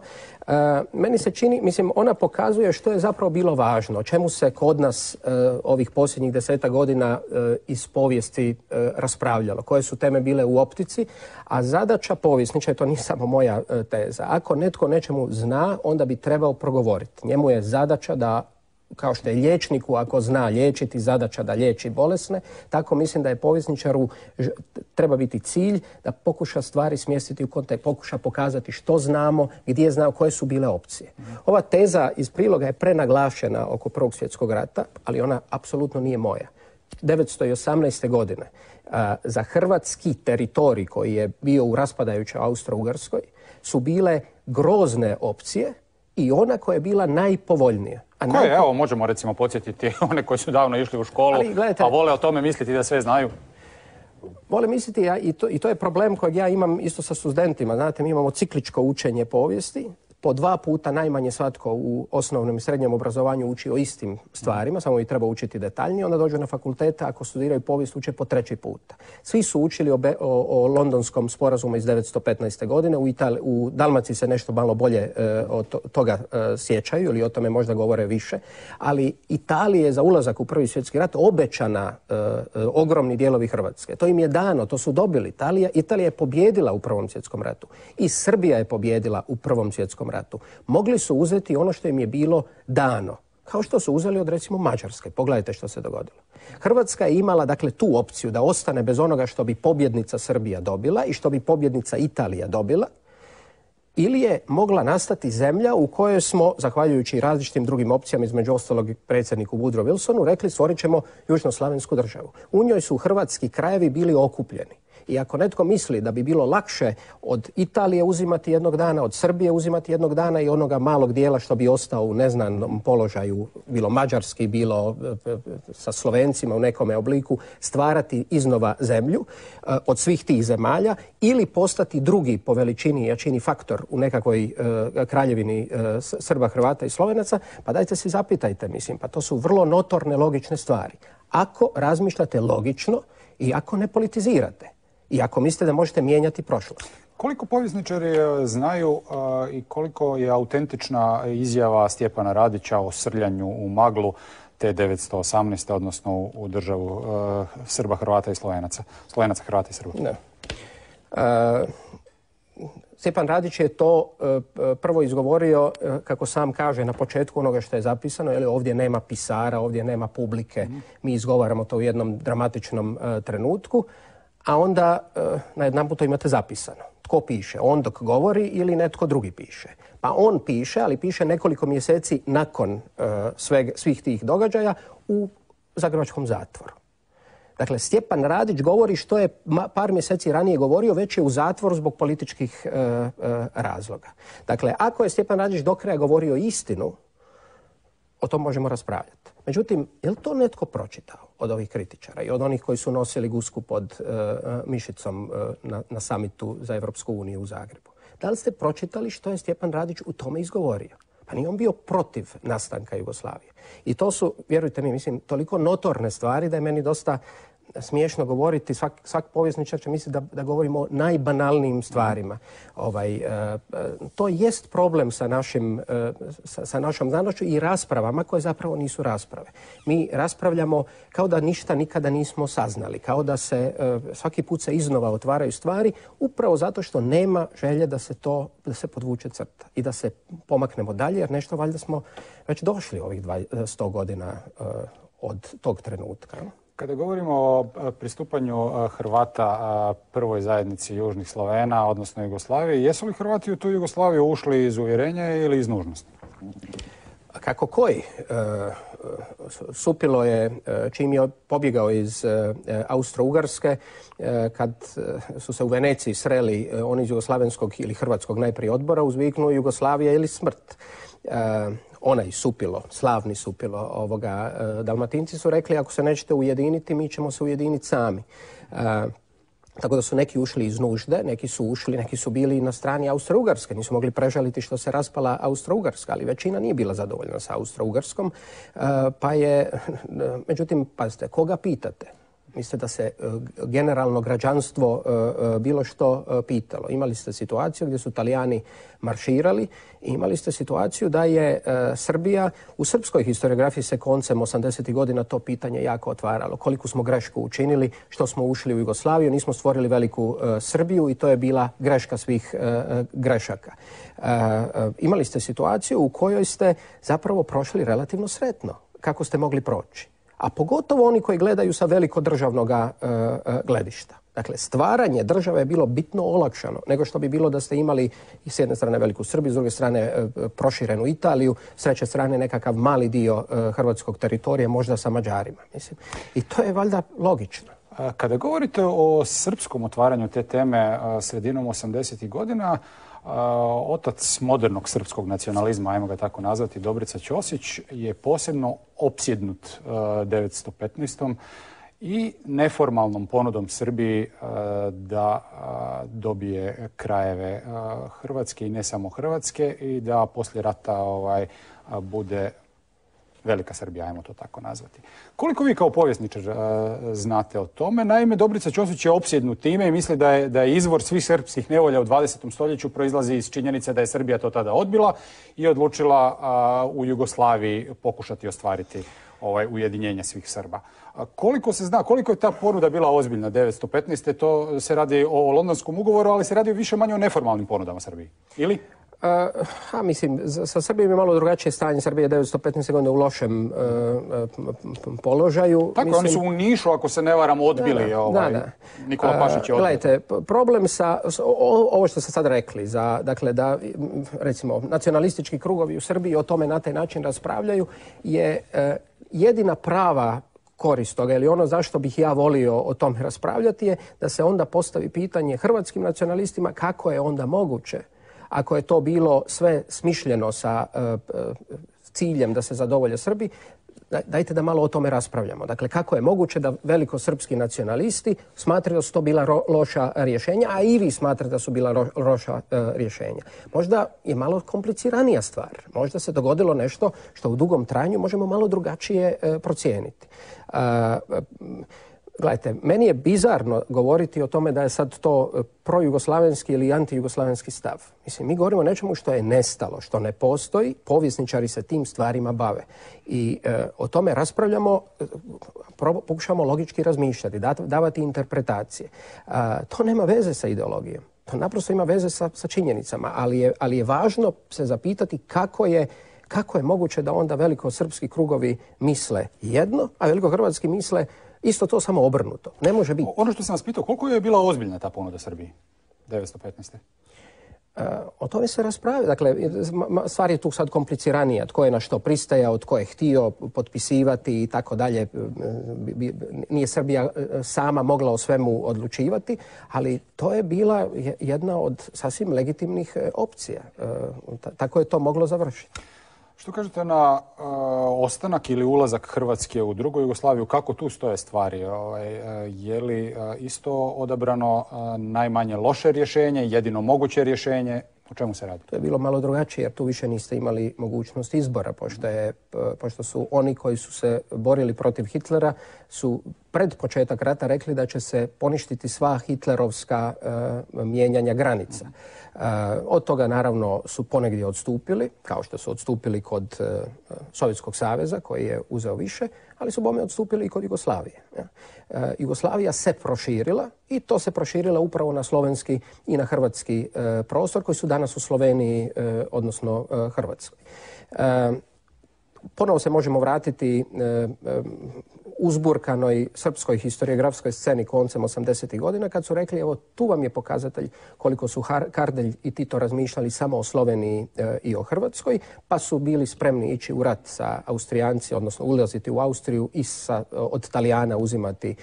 Meni se čini, mislim, ona pokazuje što je zapravo bilo važno, o čemu se kod nas ovih posljednjih 10 godina iz povijesti raspravljalo, koje su teme bile u optici, a zadaća povjesničara, to nije samo moja teza, ako netko nečemu zna, onda bi trebao progovoriti. Njemu je zadaća da, kao što je liječniku, ako zna liječiti, zadaća da liječi bolesne, tako mislim da je povjesničaru treba biti cilj da pokuša stvari smjestiti u kontekst, pokuša pokazati što znamo, gdje znamo, koje su bile opcije. Ova teza iz priloga je prenaglašena oko Prvog svjetskog rata, ali ona apsolutno nije moja. 1918. godine za hrvatski teritorij koji je bio u raspadajućoj Austro-Ugarskoj su bile grozne opcije i ona koja je bila najpovoljnija. Koje, evo, možemo recimo podsjetiti one koji su davno išli u školu, a vole o tome misliti da sve znaju? Vole misliti, i to je problem kojeg ja imam isto sa studentima. Znate, mi imamo cikličko učenje povijesti. Po 2 puta najmanje svatko u osnovnom i srednjem obrazovanju uči o istim stvarima, samo ih treba učiti detaljnije. Onda dođu na fakultete, ako studiraju povijest, uče po 3. puta. Svi su učili o Londonskom sporazumu iz 1915. godine. U Dalmaciji se nešto malo bolje od toga sjećaju ili o tome možda govore više. Ali Italiji je za ulazak u Prvi svjetski rat obećana ogromni dijelovi Hrvatske. To im je dano, to su dobili. Italija je pobjedila u Prvom svjetskom ratu. I Srbija je pobjedila u Prvom svjetskom ratu. Mogli su uzeti ono što im je bilo dano, kao što su uzeli od, recimo, Mađarske. Pogledajte što se dogodilo. Hrvatska je imala, dakle, tu opciju da ostane bez onoga što bi pobjednica Srbija dobila i što bi pobjednica Italija dobila, ili je mogla nastati zemlja u kojoj smo, zahvaljujući različitim drugim opcijama, između ostalog predsjedniku Woodrow Wilsonu, rekli stvorit ćemo južnoslavensku državu. U njoj su hrvatski krajevi bili okupljeni. I ako netko misli da bi bilo lakše od Italije uzimati jednog dana, od Srbije uzimati jednog dana i onoga malog dijela što bi ostao u neznanom položaju, bilo mađarski, bilo sa Slovencima u nekome obliku, stvarati iznova zemlju od svih tih zemalja ili postati drugi po veličini i jačini faktor u nekakvoj kraljevini Srba, Hrvata i Slovenaca, pa dajte se zapitajte, mislim, pa to su vrlo notorne logične stvari. Ako razmišljate logično i ako ne politizirate. I ako mislite da možete mijenjati prošlost. Koliko povjesničari znaju i koliko je autentična izjava Stjepana Radića o srljanju u maglu te 1918. odnosno u državu Srba, Hrvata i Slovenaca? Slovenaca, Hrvata i Srba. Ne. Stjepan Radić je to prvo izgovorio, kako sam kaže, na početku onoga što je zapisano, jer ovdje nema pisara, ovdje nema publike. Mi izgovaramo to u jednom dramatičnom trenutku, a onda najedanput to imate zapisano. Tko piše? On dok govori ili netko drugi piše? Pa on piše, ali piše nekoliko mjeseci nakon svih tih događaja u zagrebačkom zatvoru. Dakle, Stjepan Radić govori što je par mjeseci ranije govorio, već je u zatvoru zbog političkih razloga. Dakle, ako je Stjepan Radić do kraja govorio istinu, o tom možemo raspravljati. Međutim, je li to netko pročitao od ovih kritičara i od onih koji su nosili gusku pod mišicom na samitu za Europsku uniju u Zagrebu? Da li ste pročitali što je Stjepan Radić u tome izgovorio? Pa nije on bio protiv nastanka Jugoslavije. I to su, vjerujte mi, mislim, toliko notorne stvari da je meni dosta smiješno govoriti. Svak povjesničar će misliti da govorimo o najbanalnijim stvarima. To jest problem sa našom znanošću i raspravama koje zapravo nisu rasprave. Mi raspravljamo kao da ništa nikada nismo saznali, kao da se svaki put se iznova otvaraju stvari, upravo zato što nema želje da se podvuče crta i da se pomaknemo dalje, jer nešto valjda smo već došli ovih 100 godina od tog trenutka. Kada govorimo o pristupanju Hrvata prvoj zajednici južnih Slovena, odnosno Jugoslavije, jesu li Hrvati u tu Jugoslaviju ušli iz uvjerenja ili iz nužnosti? Kako koji? Supilo je, čim je pobjegao iz Austro-Ugarske, kad su se u Veneciji sreli oni iz jugoslavenskog ili hrvatskog najprije odbora, uzviknuo Jugoslavija ili smrt. Onaj Supilo, slavni Supilo, Dalmatinci su rekli ako se nećete ujediniti, mi ćemo se ujediniti sami. Tako da su neki ušli iz nužde, neki su ušli, neki su bili na strani Austro-Ugarske, nisu mogli prežaliti što se raspala Austro-Ugarska, ali većina nije bila zadovoljna sa Austro-Ugarskom, pa je, međutim, pazite, koga pitate? Mislite da se generalno građanstvo bilo što pitalo. Imali ste situaciju gdje su Talijani marširali i imali ste situaciju da je Srbija, u srpskoj historiografiji se koncem 80. godina to pitanje jako otvaralo. Koliko smo grešku učinili, što smo ušli u Jugoslaviju, nismo stvorili veliku Srbiju i to je bila greška svih grešaka. Imali ste situaciju u kojoj ste zapravo prošli relativno sretno. Kako ste mogli proći? A pogotovo oni koji gledaju sa velikodržavnog gledišta. Dakle, stvaranje države je bilo bitno olakšano nego što bi bilo da ste imali s jedne strane veliku Srbiju, s druge strane proširenu Italiju, s treće strane nekakav mali dio hrvatskog teritorija, možda sa Mađarima. Mislim. I to je valjda logično. Kada govorite o srpskom otvaranju te teme sredinom 80. godina, otac modernog srpskog nacionalizma, ajmo ga tako nazvati, Dobrica Ćosić, je posebno opsjednut 1915. i neformalnom ponudom Srbiji da dobije krajeve Hrvatske i ne samo Hrvatske i da poslije rata bude Velika Srbija, ajmo to tako nazvati. Koliko vi kao povjesničar znate o tome? Naime, Dobrica Ćosić je opsjednut time i misli da je izvor svih srpskih nevolja u 20. stoljeću proizlazi iz činjenice da je Srbija to tada odbila i odlučila u Jugoslaviji pokušati ostvariti ujedinjenje svih Srba. Koliko se zna, koliko je ta ponuda bila ozbiljna 1915. To se radi o Londonskom ugovoru, ali se radi više manje o neformalnim ponudama Srbiji. Ili? Mislim, sa Srbijom je malo drugačije stanje. Srbije 1915. godine u lošem položaju. Tako, mislim, oni su u Nišu, ako se ne varam, odbili. Nikola Pašić je odbio. Gledajte, problem sa ovo što ste sad rekli, dakle da, recimo, nacionalistički krugovi u Srbiji o tome na taj način raspravljaju, je jedina prava korist toga, ili ono zašto bih ja volio o tome raspravljati, je da se onda postavi pitanje hrvatskim nacionalistima kako je onda moguće, ako je to bilo sve smišljeno sa ciljem da se zadovolje Srbi, dajte da malo o tome raspravljamo. Dakle, kako je moguće da velikosrpski nacionalisti smatraju da su to bila loša rješenja, a i vi smatrate da su bila loša rješenja. Možda je malo kompliciranija stvar. Možda se dogodilo nešto što u dugom trajanju možemo malo drugačije procijeniti. Gledajte, meni je bizarno govoriti o tome da je sad to projugoslavenski ili antijugoslavenski stav. Mislim, mi govorimo o nečemu što je nestalo, što ne postoji, povjesničari se tim stvarima bave. I o tome raspravljamo, pokušamo logički razmišljati, davati interpretacije. To nema veze sa ideologijom. To naprosto ima veze sa činjenicama, ali je važno se zapitati kako je moguće da onda velikosrpski krugovi misle jedno, a velikohrvatski misle isto to, samo obrnuto. Ne može biti. Ono što sam vas pitao, koliko je bila ozbiljna ta ponuda Srbiji 1915. O tome se raspravlja. Dakle, stvar je tu sad kompliciranija. Tko je na što pristajao, tko je htio potpisivati i tako dalje. Nije Srbija sama mogla o svemu odlučivati, ali to je bila jedna od sasvim legitimnih opcija. Tako je to moglo završiti. Što kažete na ostanak ili ulazak Hrvatske u drugu Jugoslaviju? Kako tu stoje stvari? Je li isto odabrano najmanje loše rješenje, jedino moguće rješenje? O čemu se radi? To je bilo malo drugačije jer tu više niste imali mogućnost izbora, pošto su oni koji su se borili protiv Hitlera su pred početak rata rekli da će se poništiti sva hitlerovska mijenjanja granica. Od toga naravno su ponegdje odstupili, kao što su odstupili kod Sovjetskog saveza koji je uzeo više, ali su bome odstupili i kod Jugoslavije. Jugoslavija se proširila i to se proširila upravo na slovenski i na hrvatski prostor koji su danas u Sloveniji, odnosno Hrvatskoj. Ponovo se možemo vratiti uzburkanoj srpskoj historiografskoj sceni koncem 80. godina kad su rekli evo tu vam je pokazatelj koliko su Kardelj i Tito razmišljali samo o Sloveniji i o Hrvatskoj, pa su bili spremni ići u rat sa Austrijanci, odnosno ulaziti u Austriju i od Talijana uzimati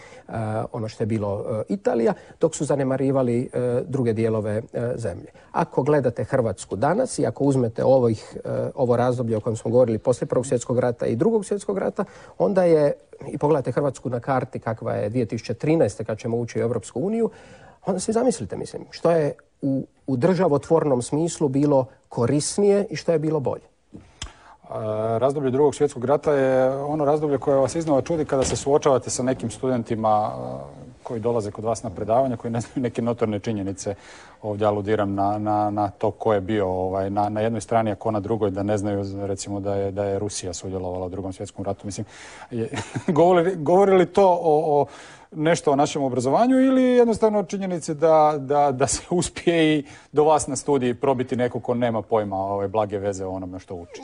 ono što je bilo Italija, dok su zanemarivali druge dijelove zemlje. Ako gledate Hrvatsku danas i ako uzmete ovo razdoblje o kojem smo govorili poslije Prvog svjetskog rata i Drugog svjetskog rata, onda je, i pogledajte Hrvatsku na karti kakva je 2013. kad ćemo ući u Europsku uniju, onda se zamislite, mislim, što je u državotvornom smislu bilo korisnije i što je bilo bolje. Razdoblje Drugog svjetskog rata je ono razdoblje koje vas iznova čudi kada se suočavate sa nekim studentima koji dolaze kod vas na predavanja, koji ne znaju neke notorne činjenice. Ovdje aludiram na to ko je bio na jednoj strani, a ko na drugoj, da ne znaju recimo da je Rusija sudjelovala u Drugom svjetskom ratu. Mislim, govori li to o nešto o našem obrazovanju ili jednostavno činjenici da se uspije i do vas na studiji probiti neko ko nema pojma blage veze o onome što uči?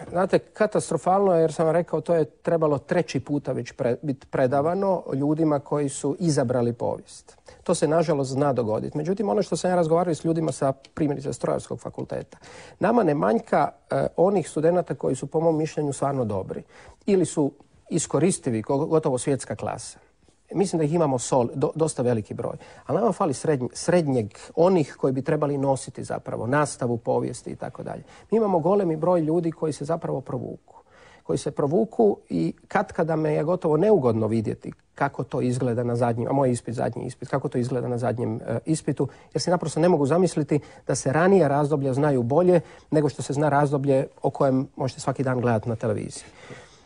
Znate, katastrofalno je, jer sam vam rekao, to je trebalo 3. puta već biti predavano ljudima koji su izabrali povijest. To se nažalost zna dogoditi. Međutim, ono što sam ja razgovarao s ljudima sa primjerice Strojarskog fakulteta, nama ne manjka onih studenata koji su po mom mišljenju stvarno dobri ili su iskoristivi, gotovo svjetska klasa. Mislim da ih imamo dosta veliki broj. Ali nama fali srednjeg, onih koji bi trebali nositi zapravo nastavu povijesti i tako dalje. Mi imamo golemi broj ljudi koji se zapravo provuku i katkada me je gotovo neugodno vidjeti kako to izgleda na zadnjem, a moj zadnji ispit, kako to izgleda na zadnjem ispitu, jer se naprosto ne mogu zamisliti da se ranija razdoblja znaju bolje nego što se zna razdoblje o kojem možete svaki dan gledati na televiziji.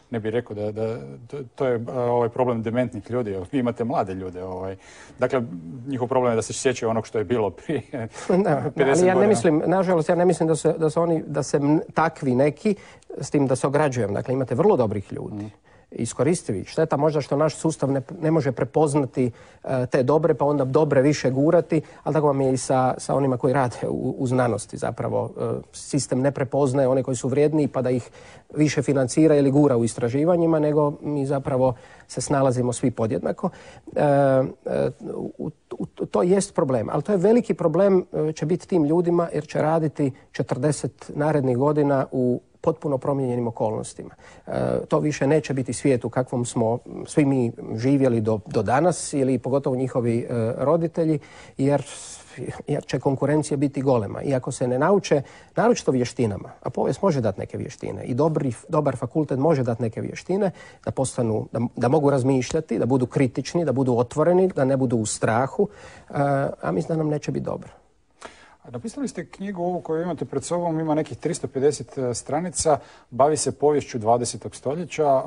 Ne bih rekao da to je problem dementnih ljudi. Vi imate mlade ljude. Dakle, njihov problem je da se sjećaju onog što je bilo prije 50 godina. Ali ja ne mislim, nažalost, ja ne mislim da se takvi neki, s tim da se ograđujem. Dakle, imate vrlo dobrih ljudi. Iskoristivi. Šteta možda što naš sustav ne može prepoznati te dobre, pa onda dobre više gurati, ali tako vam je i sa onima koji rade u znanosti zapravo. Sistem ne prepoznaje one koji su vrijedniji pa da ih više financira ili gura u istraživanjima, nego mi zapravo se snalazimo svi podjednako. To jest problem, ali to je veliki problem će biti tim ljudima jer će raditi 40 narednih godina u potpuno promijenjenim okolnostima. To više neće biti svijet u kakvom smo svi mi živjeli do danas ili pogotovo njihovi roditelji, jer će konkurencija biti golema. I ako se ne nauče, naročito vještinama, a povijest može dati neke vještine i dobar fakultet može dati neke vještine da mogu razmišljati, da budu kritični, da budu otvoreni, da ne budu u strahu, a mislim da nam neće biti dobro. Napisali ste knjigu ovu koju imate pred sobom, ima nekih 350 stranica, bavi se poviješću 20. stoljeća.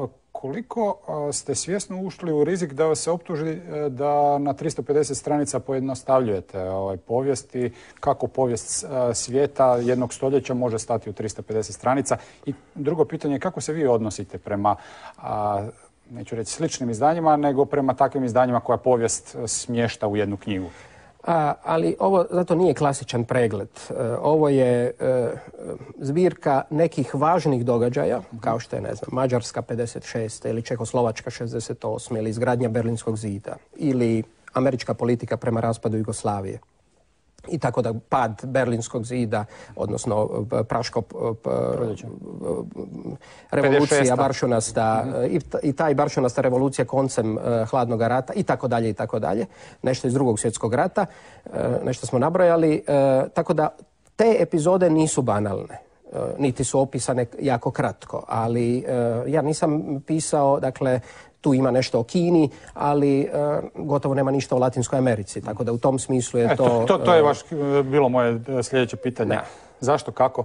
koliko ste svjesno ušli u rizik da vas se optuži da na 350 stranica pojednostavljujete povijesti, kako povijest svijeta jednog stoljeća može stati u 350 stranica? I drugo pitanje je kako se vi odnosite prema, neću reći sličnim izdanjima, nego prema takvim izdanjima koja povijest smješta u jednu knjigu? Ali ovo zato nije klasičan pregled. Ovo je zbirka nekih važnih događaja, kao što je, ne znam, Mađarska 56. ili Čehoslovačka 68. ili izgradnja Berlinskog zida ili američka politika prema raspadu Jugoslavije. I tako da pad Berlinskog zida, odnosno Praško revolucija baršunasta i taj baršunasta revolucija koncem hladnog rata i tako dalje i tako dalje. Nešto iz Drugog svjetskog rata, nešto smo nabrojali. Tako da te epizode nisu banalne, niti su opisane jako kratko, ali ja nisam pisao, dakle, tu ima nešto o Kini, ali gotovo nema ništa o Latinskoj Americi. Tako da u tom smislu je to... To je baš bilo moje sljedeće pitanje. Da. Zašto, kako?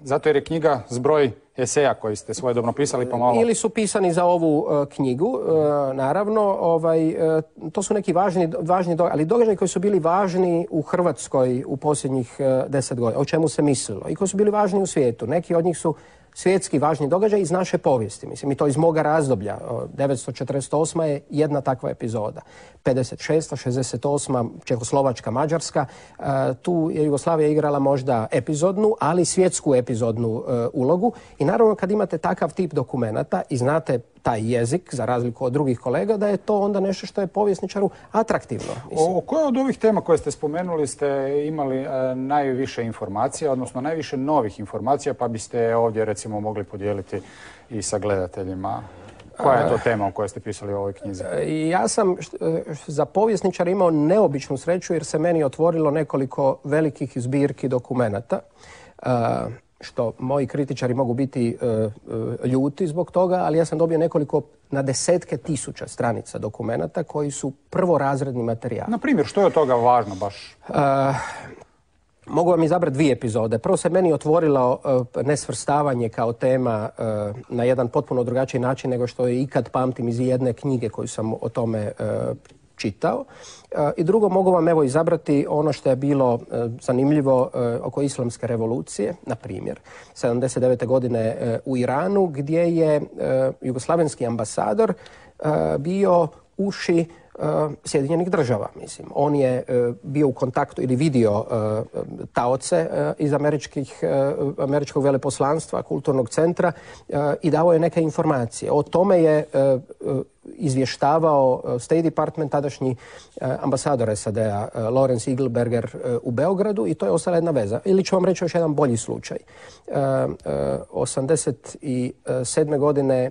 Zato jer je knjiga zbroj eseja koji ste svojedobno pisali pa malo... Ili su pisani za ovu knjigu, naravno. To su neki važni događaji, ali događaji koji su bili važni u Hrvatskoj u posljednjih 10 godina. O čemu se mislilo? I koji su bili važni u svijetu. Neki od njih su svjetski važni događaj iz naše povijesti. Mislim, i to iz moga razdoblja. 1948. je jedna takva epizoda. 56. 68. Čehoslovačka, Mađarska. Tu je Jugoslavija igrala možda epizodnu, ali svjetsku epizodnu ulogu. I naravno kad imate takav tip dokumenata i znate taj jezik, za razliku od drugih kolega, da je to onda nešto što je povjesničaru atraktivno. O koje od ovih tema koje ste spomenuli ste imali najviše informacija, odnosno najviše novih informacija, pa biste ovdje recimo mogli podijeliti i sa gledateljima? Koja je to tema o kojoj ste pisali u ovoj knjizi? Ja sam za povjesničara imao neobičnu sreću jer se meni otvorilo nekoliko velikih zbirki dokumenata, što moji kritičari mogu biti ljuti zbog toga, ali ja sam dobio nekoliko na desetke tisuća stranica dokumenata koji su prvorazredni materijal. Na primjer, što je od toga važno baš? Mogu vam izabrati dvije epizode. Prvo se meni otvorilo nesvrstavanje kao tema na jedan potpuno drugačiji način nego što je ikad pamtim iz jedne knjige koju sam o tome čitao. I drugo, mogu vam evo izabrati ono što je bilo zanimljivo oko islamske revolucije, na primjer, 79. godine u Iranu, gdje je jugoslavenski ambasador bio uši Sjedinjenih država, mislim. On je bio u kontaktu ili vidio taoce iz američkog veleposlanstva, kulturnog centra i dao je neke informacije. O tome je izvještavao State Department, tadašnji ambasador SAD-a Lawrence Eagleberger u Beogradu i to je ostala jedna veza. Ili ću vam reći još jedan bolji slučaj. 87. godine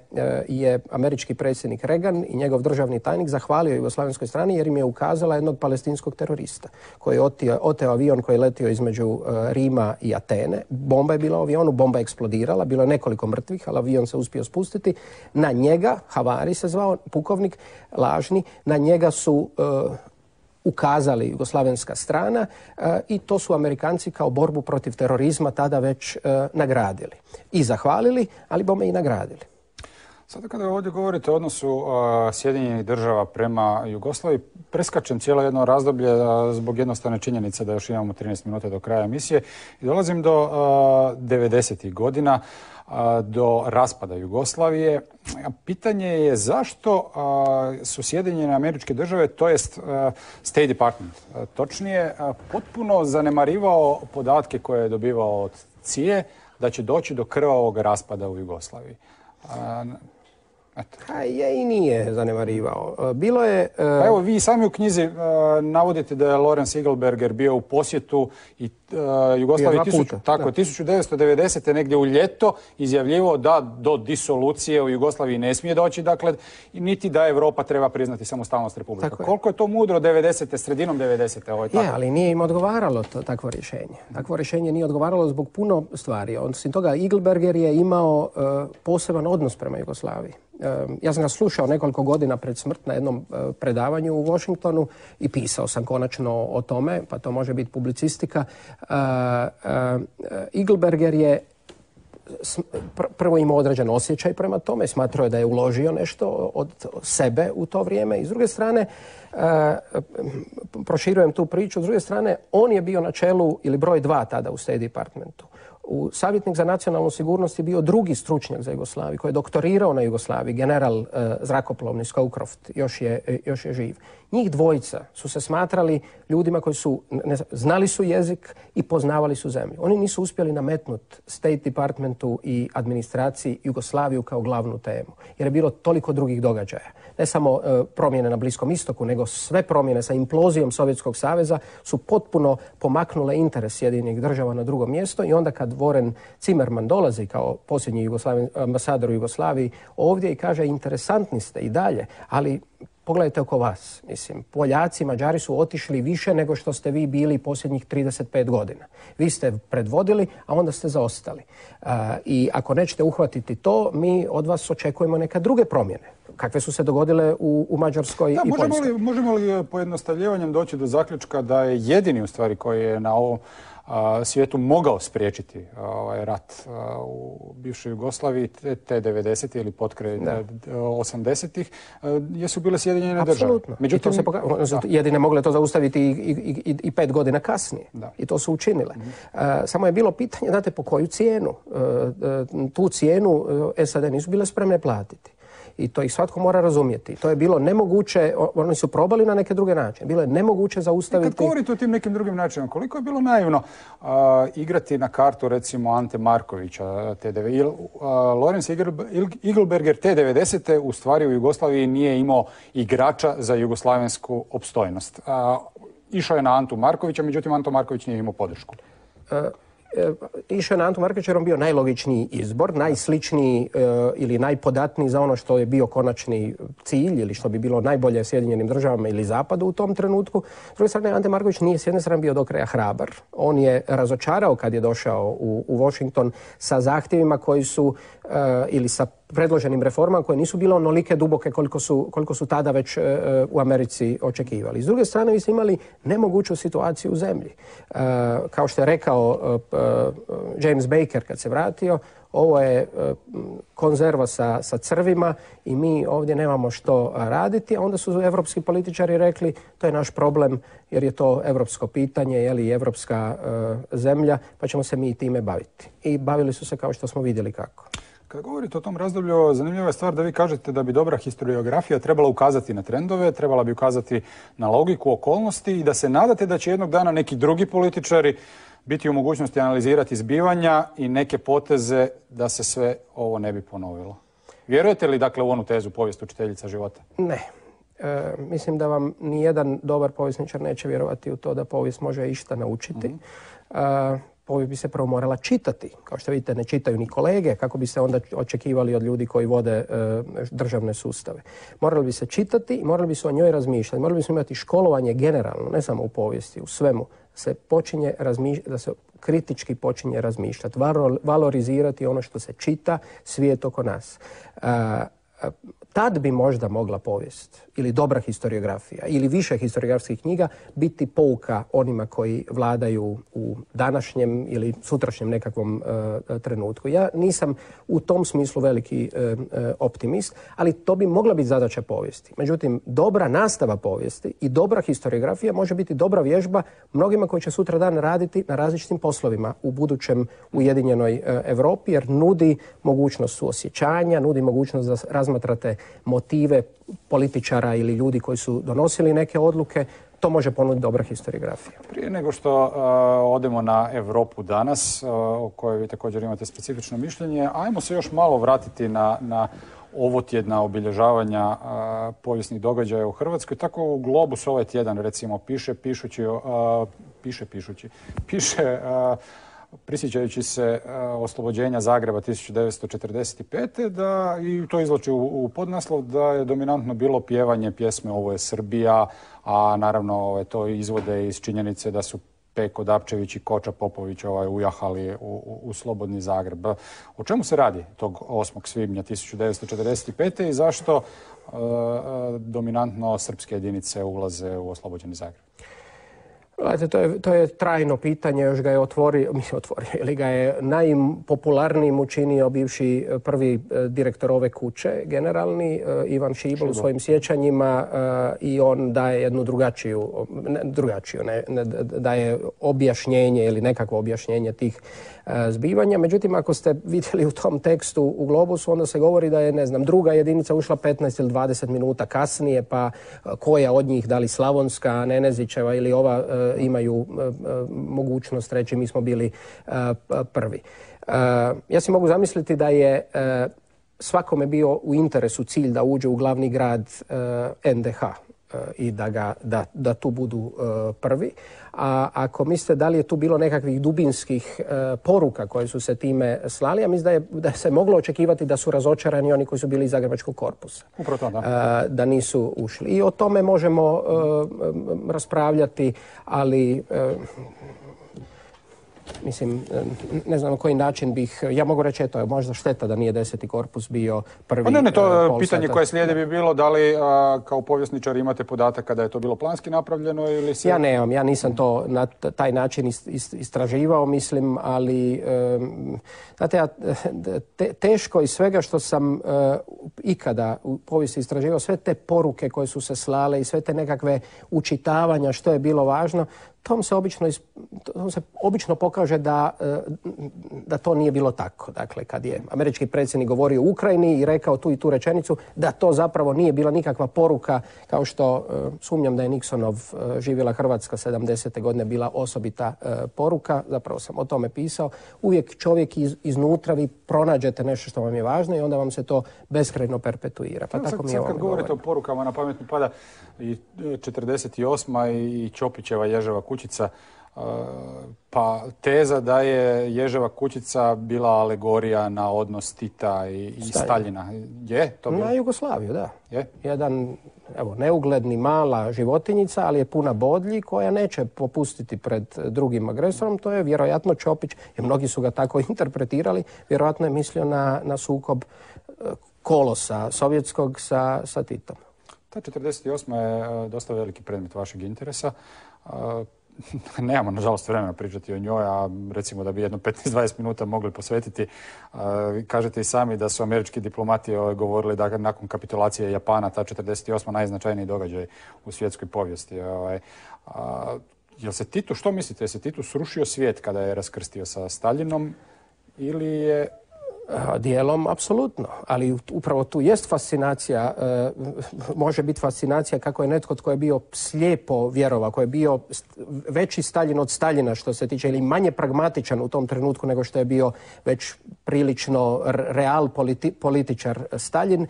je američki predsjednik Reagan i njegov državni tajnik zahvalio jugoslavenskoj strani jer im je ukazala jednog palestinskog terorista koji je oteo avion koji je letio između Rima i Atene. Bomba je bila u avionu, bomba je eksplodirala, bilo je nekoliko mrtvih, ali avion se uspio spustiti. Na njega, Havari se zvao, pukovnik lažni, na njega su ukazali jugoslavenska strana i to su Amerikanci kao borbu protiv terorizma tada već nagradili. I zahvalili, ali bome i nagradili. Sada kada ovdje govorite o odnosu Sjedinjenih država prema Jugoslaviji, preskačem cijelo jedno razdoblje zbog jednostavne činjenice da još imamo 13 minuta do kraja emisije i dolazim do 90. godina, do raspada Jugoslavije. Pitanje je zašto su Sjedinjene Američke Države, to jest State Department, točnije, potpuno zanemarivao podatke koje je dobivao od CIA da će doći do krvavog raspada u Jugoslaviji. Je i nije zanemarivao. Bilo je... Pa evo, vi sami u knjizi navodite da je Lawrence Eagleberger bio u posjetu i Jugoslaviji 1990. negdje u ljeto izjavljivao da do disolucije u Jugoslaviji ne smije doći, dakle, niti da Europa treba priznati samostalnost Republika. Koliko je to mudro 90. sredinom 90. Je, ali nije im odgovaralo takvo rješenje. Takvo rješenje nije odgovaralo zbog puno stvari. Osim toga, Eagleberger je imao poseban odnos prema Jugoslaviji. Ja sam ga slušao nekoliko godina pred smrt na jednom predavanju u Washingtonu i pisao sam konačno o tome, pa to može biti publicistika. Eagleberger je prvo imao određen osjećaj prema tome, smatrao je da je uložio nešto od sebe u to vrijeme i s druge strane, proširujem tu priču, s druge strane, on je bio na čelu ili broj 2 tada u State Departmentu. Savjetnik za nacionalnu sigurnost je bio drugi stručnjak za Jugoslaviju koji je doktorirao na Jugoslaviji, general zrakoplovni Scowcroft, još je živ. Njih dvojica su se smatrali ljudima koji su, znali su jezik i poznavali su zemlju. Oni nisu uspjeli nametnuti State Departmentu i administraciji Jugoslaviju kao glavnu temu, jer je bilo toliko drugih događaja. Ne samo promjene na Bliskom istoku, nego sve promjene sa implozijom Sovjetskog saveza su potpuno pomaknule interes Sjedinjenih država na drugo mjesto i onda kad Warren Zimmerman dolazi kao posljednji ambasador u Jugoslaviji ovdje i kaže interesantni ste i dalje, ali pogledajte oko vas. Mislim, Poljaci, Mađari su otišli više nego što ste vi bili posljednjih 35 godina. Vi ste predvodili, a onda ste zaostali. I ako nećete uhvatiti to, mi od vas očekujemo neke druge promjene. Kakve su se dogodile u Mađarskoj i Poljskoj. Možemo li pojednostavljivanjem doći do zaključka da je jedini u stvari koji je na ovom svijetu mogao spriječiti rat u bivšoj Jugoslaviji te 90. ili potkraj 80-ih, jesu bile Sjedinjene države. Apsolutno. Međutim, jedine mogle to zaustaviti i 5 godina kasnije. I to su učinile. Samo je bilo pitanje, znate, po koju cijenu? Tu cijenu SAD nisu bile spremne platiti. I to ih svatko mora razumjeti. To je bilo nemoguće, oni su probali na neke druge načine. Bilo je nemoguće zaustaviti... I kad govorite o tim nekim drugim načinima, koliko je bilo naivno igrati na kartu, recimo, Ante Markovića, Lorenz Igelberger te 90. u stvari u Jugoslaviji nije imao igrača za jugoslavensku opstojnost. Išao je na Antu Markovića, međutim Anto Marković nije imao podršku. Išao je na Antu Markovića jer on bio najlogičniji izbor, najsličniji ili najpodatniji za ono što je bio konačni cilj ili što bi bilo najbolje Sjedinjenim državama ili Zapadu u tom trenutku. S druge strane, Ante Marković nije s jedne strane bio do kraja hrabar. On je razočarao kad je došao u Washington sa zahtjevima koji su ili sa predloženim reformama koje nisu bile onolike duboke koliko su tada već u Americi očekivali. S druge strane, vi ste imali nemoguću situaciju u zemlji. Kao što je rekao James Baker kad se vratio, ovo je konzerva sa crvima i mi ovdje nemamo što raditi. A onda su evropski političari rekli to je naš problem jer je to evropsko pitanje, je li evropska zemlja, pa ćemo se mi time baviti. I bavili su se kao što smo vidjeli kako. Kad govorite o tom razdoblju, zanimljiva je stvar da vi kažete da bi dobra historiografija trebala ukazati na trendove, trebala bi ukazati na logiku okolnosti i da se nadate da će jednog dana neki drugi političari biti u mogućnosti analizirati zbivanja i neke poteze da se sve ovo ne bi ponovilo. Vjerujete li dakle u onu tezu povijest učiteljica života? Ne. Mislim da vam nijedan dobar povjesničar neće vjerovati u to da povijest može išta naučiti. Povijest bi se prvo morala čitati. Kao što vidite, ne čitaju ni kolege, kako bi se onda očekivali od ljudi koji vode državne sustave. Morali bi se čitati i morali bi se o njoj razmišljati. Morali bi se imati školovanje generalno, ne samo u povijesti, u svemu. Da se kritički počinje razmišljati, valorizirati ono što se čita, svijet oko nas. Tad bi možda mogla povijest ili dobra historiografija ili više historiografskih knjiga biti pouka onima koji vladaju u današnjem ili sutrašnjem nekakvom trenutku. Ja nisam u tom smislu veliki optimist, ali to bi mogla biti zadaća povijesti. Međutim, dobra nastava povijesti i dobra historiografija može biti dobra vježba mnogima koji će sutra dan raditi na različitim poslovima u budućem ujedinjenoj Europi, jer nudi mogućnost suosjećanja, nudi mogućnost da razmatrate motive političara ili ljudi koji su donosili neke odluke. To može ponuditi dobra historiografija. Prije nego što odemo na Europu danas, o kojoj vi također imate specifično mišljenje, ajmo se još malo vratiti na ovotjedna obilježavanja povijesnih događaja u Hrvatskoj. Tako u Globus ovaj tjedan recimo piše prisjećajući se oslobođenja Zagreba 1945. i to izvlači u podnaslov da je dominantno bilo pjevanje pjesme Ovo je Srbija, a naravno to izvode iz činjenice da su Peko Dapčević i Koča Popović ujahali u slobodni Zagreb. O čemu se radi tog 8. svibnja 1945. i zašto dominantno srpske jedinice ulaze u oslobođeni Zagreb? Gledajte, to je trajno pitanje, još ga je otvorio, ili ga je najpopularnijim učinio bivši prvi direktor ove kuće, generalni, Ivan Šibl u svojim sjećanjima, i on daje jednu drugačiju, daje objašnjenje ili nekakvo objašnjenje tih zbivanja. Međutim, ako ste vidjeli u tom tekstu u Globusu, onda se govori da je, ne znam, druga jedinica ušla 15 ili 20 minuta kasnije, pa koja od njih, da li Slavonska, Nenezićeva ili ova, imaju mogućnost reći mi smo bili prvi. Ja si mogu zamisliti da je svakome bio u interesu cilj da uđe u glavni grad NDH i da tu budu prvi. A ako mislite da li je tu bilo nekakvih dubinskih poruka koje su se time slali, ja mislim da se moglo očekivati da su razočarani oni koji su bili iz Zagrebačkog korpusa. Upravo to, da. Da nisu ušli. I o tome možemo raspravljati, ali mislim, ne znam na koji način bih, ja mogu reći, eto, je možda šteta da nije 10. korpus bio prvi. Ne, to pitanje koje slijedi bi bilo da li kao povjesničar imate podatak kada je to bilo planski napravljeno ili se... Ja nemam, ja nisam to na taj način istraživao, mislim, ali znate, teško iz svega što sam ikada u povijesti istraživao, sve te poruke koje su se slale i sve te nekakve učitavanja što je bilo važno, tom se obično pokaže da to nije bilo tako. Dakle, kad je američki predsjednik govorio o Ukrajini i rekao tu i tu rečenicu, da to zapravo nije bila nikakva poruka, kao što sumnjam da je Nixonov živjela Hrvatska 70. godine bila osobita poruka. Zapravo sam o tome pisao. Uvijek čovjek iznutra vi pronađete nešto što vam je važno i onda vam se to beskrajno perpetuira. Pa tako mi je ovo. Kad govorite o porukama, na pamet mi pada i 48. i Ćopićeva Ježeva kućica, pa teza da je Ježeva kućica bila alegorija na odnos Tita i Staljina. Je to bilo? Na Jugoslaviju, da. Je? Jedan, neugledni mala životinjica, ali je puna bodlji koja neće popustiti pred drugim agresorom. To je vjerojatno Ćopić, jer mnogi su ga tako interpretirali, vjerojatno je mislio na sukob kolosa sovjetskog sa Titom. Ta 48. je dosta veliki predmet vašeg interesa. Nemamo, nažalost, vremena pričati o njoj, a recimo da bi jedno 15-20 minuta mogli posvetiti. Kažete i sami da su američki diplomati govorili da nakon kapitulacije Japana ta 48. najznačajniji događaj u svjetskoj povijesti. Jel se Titu, što mislite, je se Titu srušio svijet kada je raskrstio sa Staljinom ili je... Dijelom, apsolutno. Ali upravo tu jest fascinacija, može biti fascinacija kako je netko tko je bio slijepo vjerovao, koji je bio veći Staljin od Staljina što se tiče, ili manje pragmatičan u tom trenutku nego što je bio već prilično real političar Staljin.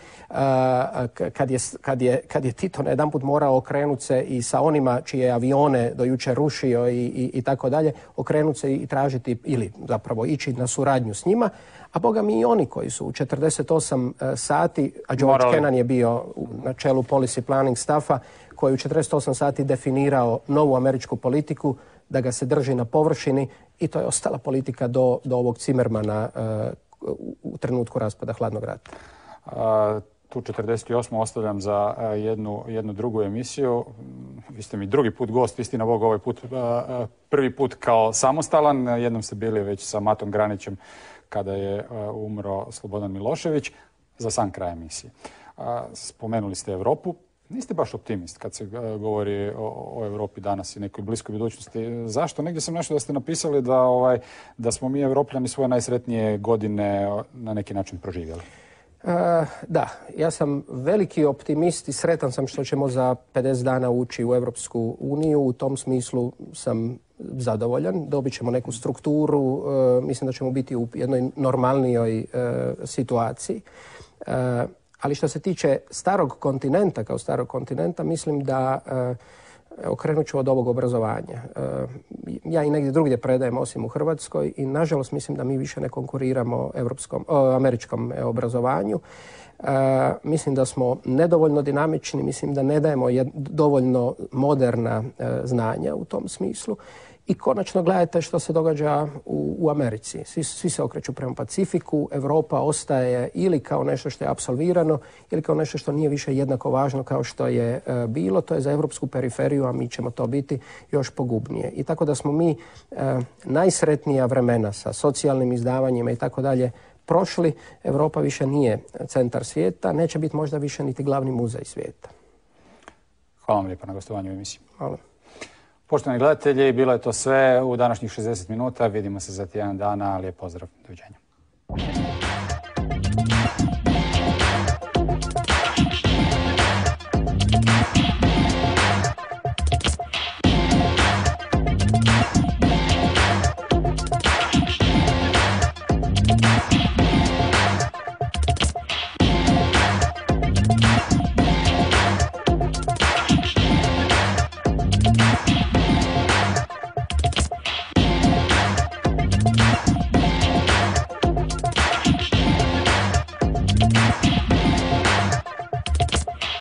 Kad je Tito na jedanput morao okrenuti se i sa onima čije avione do jučer rušio i tako dalje, okrenuti se i tražiti ili zapravo ići na suradnju s njima. A boga mi i oni koji su u 48 sati, a George Kennan je bio na čelu policy planning staffa, koji u 48 sati definirao novu američku politiku, da ga se drži na površini i to je ostala politika do ovog Zimmermana u trenutku raspada hladnog rata. Tu 48. ostavljam za jednu drugu emisiju. Vi ste mi drugi put gost, istina Bog, ovaj put prvi put kao samostalan. Jednom ste bili već sa Matom Granićem kada je umro Slobodan Milošević, za sam kraj emisije. Spomenuli ste Europu. Niste baš optimist kad se govori o Europi danas i nekoj bliskoj budućnosti. Zašto? Negdje sam našao da ste napisali da smo mi Europljani svoje najsretnije godine na neki način proživjeli. Da, ja sam veliki optimist i sretan sam što ćemo za 50 dana ući u Europsku uniju. U tom smislu sam zadovoljan. Dobit ćemo neku strukturu. Mislim da ćemo biti u jednoj normalnijoj situaciji. Ali što se tiče starog kontinenta, kao starog kontinenta, mislim da okrenut ću od ovog obrazovanja. Ja i negdje drugdje predajem osim u Hrvatskoj i nažalost mislim da mi više ne konkuriramo američkom obrazovanju. Mislim da smo nedovoljno dinamični, mislim da ne dajemo dovoljno moderna znanja u tom smislu I konačno gledajte što se događa u Americi. Svi se okreću prema Pacifiku, Europa ostaje ili kao nešto što je apsolvirano ili kao nešto što nije više jednako važno kao što je bilo. To je za europsku periferiju, a mi ćemo to biti još pogubnije. I tako da smo mi najsretnija vremena sa socijalnim izdavanjima i tako dalje prošli. Europa više nije centar svijeta, neće biti možda više niti glavni muzej svijeta. Hvala vam lijepo na gostovanju u emisiji. Hvala. Poštovani gledatelji, bilo je to sve u današnjih 60 minuta. Vidimo se za tjedan dana. Lijep pozdrav. Doviđenja.